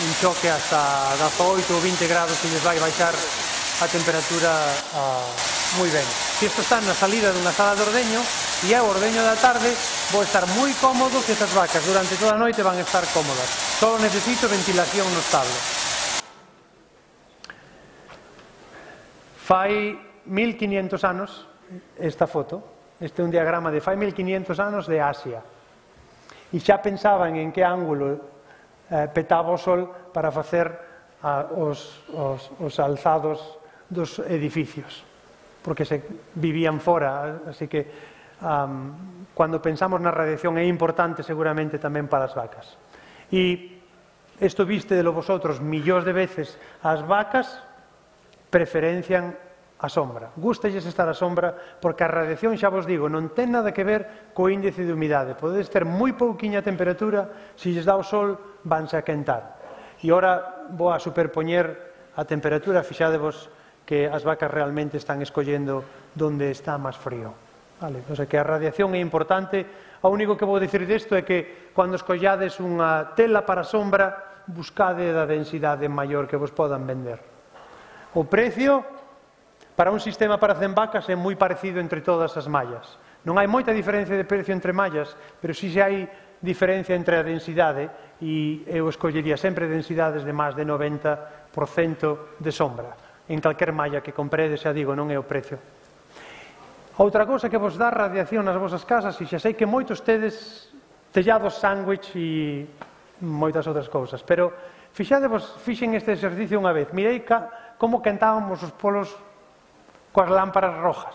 un choque hasta dezaoito ou vinte grados que lles vai baixar a temperatura uh, moi ben. Se isto está na salida dunha sala de ordeño e é o ordeño da tarde, vou estar moi cómodo que estas vacas durante toda a noite van a estar cómodas. Só necesito ventilación no establo. Fai mil quinientos anos esta foto, este é un diagrama de fai mil quinientos anos de Asia. e xa pensaban en que ángulo eh, petaba o sol para facer ah, os, os, os alzados dos edificios, porque se vivían fora, así que um, cando pensamos na radiación é importante seguramente tamén para as vacas. E isto viste de lo vosotros millóns de veces, as vacas preferencian a sombra. Gústalles estar a sombra porque a radiación, xa vos digo, non ten nada que ver co índice de humidade. Podedes ter moi pouquiña temperatura, se lles dá o sol, vanse a quentar. E ora vou a superpoñer a temperatura, fixadevos que as vacas realmente están escollendo donde está máis frío. Vale? O sea que a radiación é importante. O único que vou dicir disto é que cando escollades unha tela para sombra, buscade da densidade maior que vos podan vender. O precio para un sistema para cen vacas é moi parecido entre todas as mallas. Non hai moita diferencia de precio entre mallas, pero si xa hai diferencia entre a densidade, e eu escollería sempre densidades de máis de noventa por cento de sombra. En calquer malla que compredes, xa digo, non é o precio. Outra cousa que vos dá radiación nas vosas casas, e xa sei que moitos tedes tellados sándwich e moitas outras cousas, pero fixadevos, fixen este exercicio unha vez, mirei ca, como quentábamos os polos coas lámparas rojas.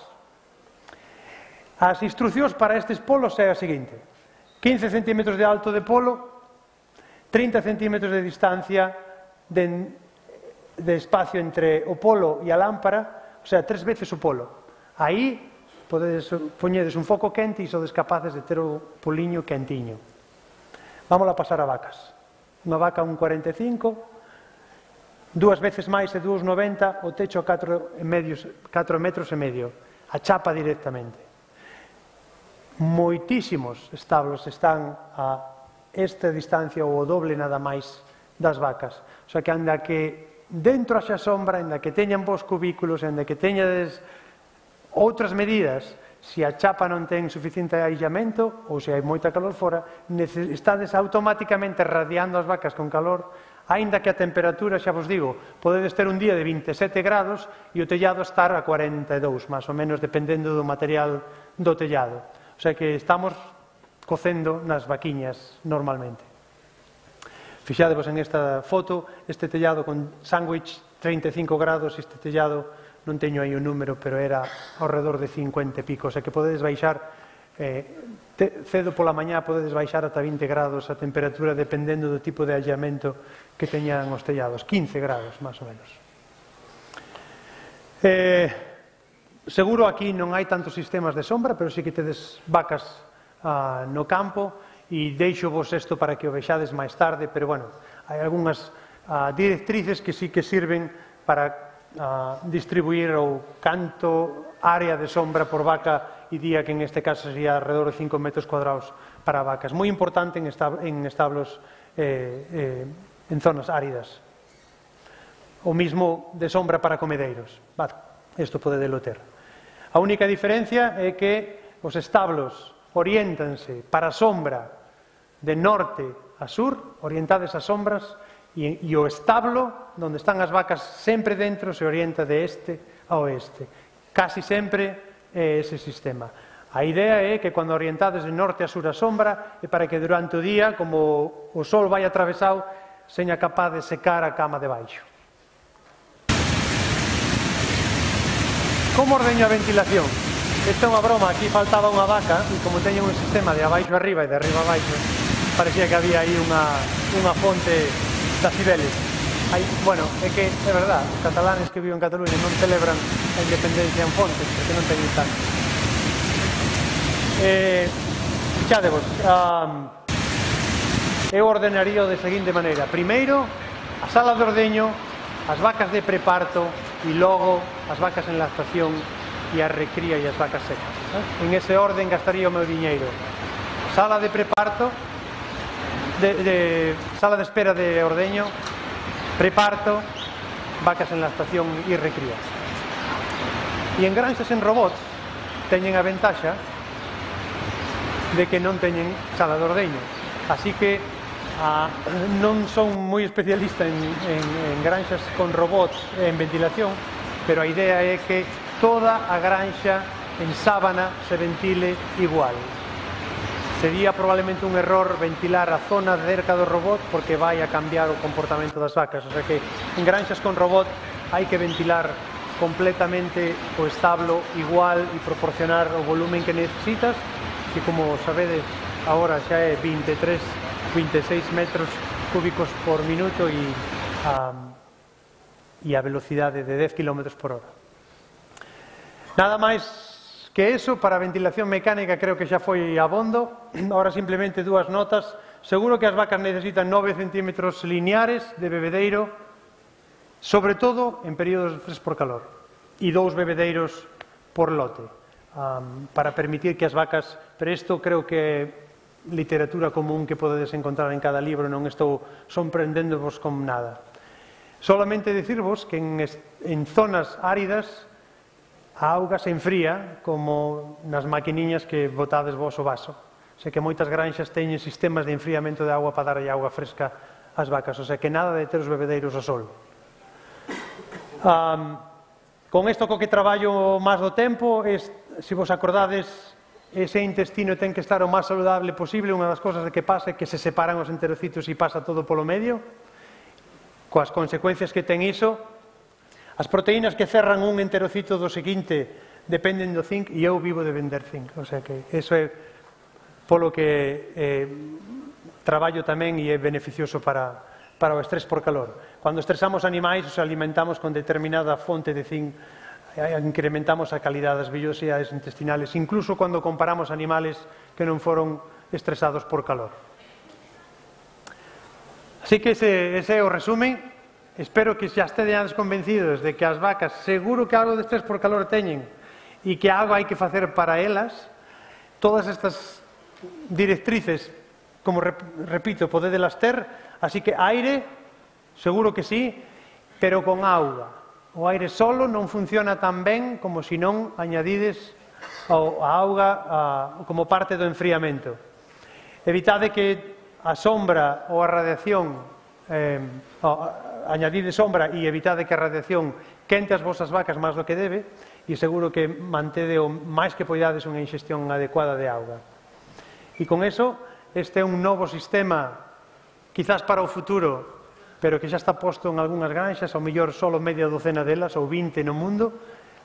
As instruccións para estes polos é a seguinte: quince centímetros de alto de polo, trinta centímetros de distancia de, de espacio entre o polo e a lámpara, o sea, tres veces o polo. Aí podedes poñedes un foco quente e sodes capaces de ter o poliño quentiño. Vamos a pasar a vacas. Unha vaca un cuarenta e cinco, dúas veces máis e dúas noventa, o techo catro metros e medio, a chapa directamente. Moitísimos establos están a esta distancia ou o doble nada máis das vacas. O sea que anda que dentro haxa sombra, anda que teñan vos cubículos, anda que teñades outras medidas, se a chapa non ten suficiente aillamento ou se hai moita calor fora, estades automáticamente radiando as vacas con calor. Aínda que a temperatura, xa vos digo, podedes ter un día de vinte e sete grados e o tellado estar a cuarenta e dous, máis ou menos, dependendo do material do tellado. O sea que estamos cocendo nas vaquiñas normalmente. Fixadevos en esta foto, este tellado con sándwich trinta e cinco grados, este tellado, non teño aí o número, pero era ao redor de cincuenta e pico, o sea que podedes baixar Eh, te, cedo pola mañá podedes baixar ata vinte grados a temperatura dependendo do tipo de aillamento que teñan os tellados, quince grados máis ou menos. Eh, seguro aquí non hai tantos sistemas de sombra, pero sí que tedes vacas ah, no campo, e deixo vos isto para que o vexades máis tarde, pero bueno, hai algunhas ah, directrices que sí que sirven para ah, distribuir o canto área de sombra por vaca e día, que en este caso sería alrededor de cinco metros cuadrados para vacas. Moi importante en, estab en establos eh, eh, en zonas áridas. O mismo de sombra para comedeiros. Vale, isto pode delo ter. A única diferencia é que os establos oriéntanse para a sombra de norte a sur, orientadas as sombras, e, e o establo, onde están as vacas sempre dentro, se orienta de este a oeste. Casi sempre é ese sistema. A idea é que cando orientades de norte a sur a sombra é para que durante o día, como o sol vai atravesado, seña capaz de secar a cama de baixo. Como ordeño a ventilación? Esta é unha broma, aquí faltaba unha vaca e como teñen un sistema de abaixo arriba e de arriba abaixo, parecía que había aí unha, unha fonte de Cibeles. Hai, bueno, é que é verdad, os catalanes que viven en Cataluña non celebran a independencia en Fontes, porque non teñen tanto. Eh, Fixadevos, um, eu ordenaría de seguinte maneira. Primeiro, a sala de ordeño, as vacas de preparto e logo as vacas en lactación e a recría e as vacas secas. Eh? En ese orden gastaría o meu diñeiro. Sala de preparto, de, de, sala de espera de ordeño, preparto, vacas en lactación e recrías. E en granxas en robots teñen a ventaxa de que non teñen sala de ordeño. Así que ah, non son moi especialista en, en, en granxas con robots en ventilación, pero a idea é que toda a granxa en sábana se ventile igual. Se sería probablemente un error ventilar a zona cerca do robot porque vai a cambiar o comportamento das vacas. O sea que en granxas con robot hai que ventilar completamente o establo igual e proporcionar o volumen que necesitas, que como sabedes agora xa é vinte e tres, vinte e seis metros cúbicos por minuto e a, e a velocidade de dez kilómetros por hora. Nada máis que eso, para a ventilación mecánica creo que xa foi abondo. Ahora simplemente dúas notas. Seguro que as vacas necesitan nove centímetros lineares de bebedeiro, sobre todo en períodos de estrés por calor, e dous bebedeiros por lote, um, para permitir que as vacas, pero isto creo que é literatura común que podedes encontrar en cada libro, non estou sorprendéndovos con nada. Solamente dicirvos que en, en zonas áridas a auga se enfría como nas maquiniñas que botades vos o vaso. Sei que moitas granxas teñen sistemas de enfriamento de agua para darlle agua fresca ás vacas, o sea que nada de ter os bebedeiros ao sol. Um, con isto co que traballo máis do tempo, es, se vos acordades, ese intestino ten que estar o máis saludable posible. Unha das cosas de que pasa é que se separan os enterocitos e pasa todo polo medio, coas consecuencias que ten iso. As proteínas que cerran un enterocito do seguinte dependen do zinc e eu vivo de vender zinc. O sea que eso é polo que eh, traballo tamén e é beneficioso para, para o estrés por calor. Cando estresamos animais, os alimentamos con determinada fonte de zinc, eh, incrementamos a calidade das vellosidades intestinales, incluso cando comparamos animales que non foron estresados por calor. Así que ese, ese é o resumen. Espero que xa estedes convencidos de que as vacas seguro que algo de estrés por calor teñen e que algo hai que facer para elas. Todas estas directrices, como repito, podedelas ter, así que aire, seguro que sí, pero con auga. O aire solo non funciona tan ben como se non añadides a auga a, como parte do enfriamento. Evitade que a sombra ou a radiación eh, a, añadide sombra e evitade que a radiación quente as vosas vacas máis do que debe, e seguro que mantede o máis que poidades unha ingestión adecuada de auga. E con eso, este é un novo sistema, quizás para o futuro, pero que xa está posto en algunhas granxas, ao mellor solo media docena delas, ou vinte no mundo,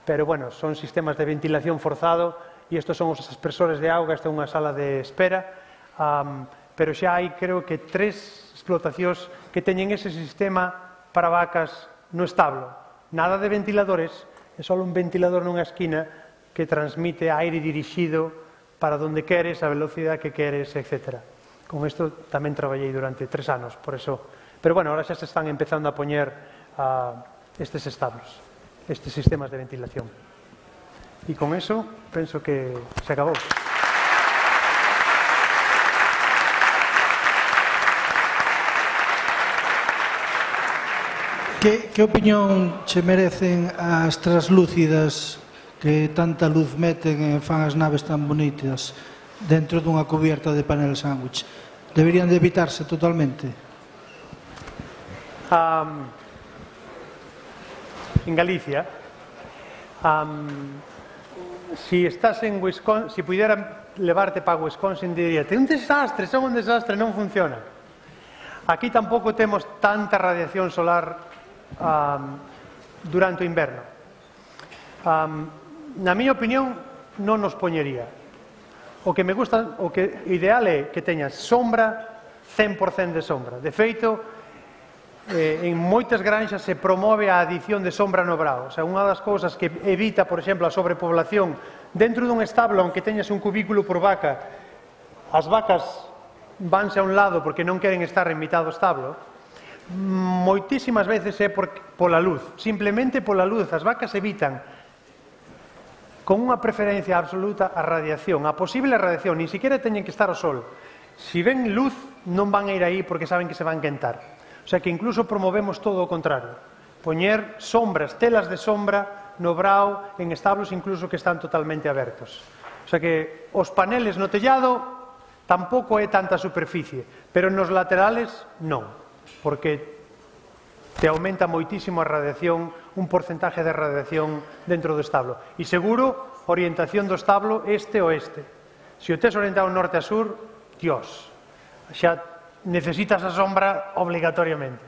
pero bueno, son sistemas de ventilación forzado, e estes son os aspersores de auga. Esta é unha sala de espera, um, pero xa hai, creo que, tres explotacións que teñen ese sistema para vacas no establo. Nada de ventiladores, é só un ventilador nunha esquina que transmite aire dirixido para donde queres, a velocidade que queres, etcétera. Con isto tamén traballei durante tres anos, por eso. Pero bueno, ahora xa se están empezando a poñer uh, estes establos, estes sistemas de ventilación. E con eso, penso que se acabou. Que, que opinión che merecen as traslúcidas que tanta luz meten e fan as naves tan bonitas dentro dunha cubierta de panel sándwich? Deberían de evitarse totalmente? Um, en Galicia, um, si estás en Wisconsin, si pudera levarte para Wisconsin, diría, é un desastre, son un desastre, non funciona. Aquí tampouco temos tanta radiación solar Um, durante o inverno. Um, na miña opinión, non nos poñería. O que me gusta, o que ideal é que teñas sombra, cen por cento de sombra. De feito, eh, en moitas granxas se promove a adición de sombra no brao. O sea, unha das cousas que evita, por exemplo, a sobrepoblación dentro dun establo, aunque teñas un cubículo por vaca, as vacas vanse a un lado porque non queren estar en mitad do establo. Moitísimas veces é por, pola luz, simplemente pola luz. As vacas evitan con unha preferencia absoluta a radiación, a posible radiación, nin siquiera teñen que estar ao sol. Si ven luz non van a ir aí porque saben que se van quentar. O sea que incluso promovemos todo o contrario, poñer sombras, telas de sombra no brao, en establos incluso que están totalmente abertos. O sea que os paneles no tellado tampouco é tanta superficie, pero nos laterales non, porque te aumenta moitísimo a radiación, un porcentaje de radiación dentro do establo. E seguro, orientación do establo este-oeste. Se o tes orientado norte a sur, Dios, xa necesitas a sombra obligatoriamente.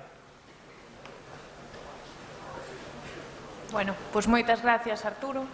Bueno, pois moitas gracias, Arturo.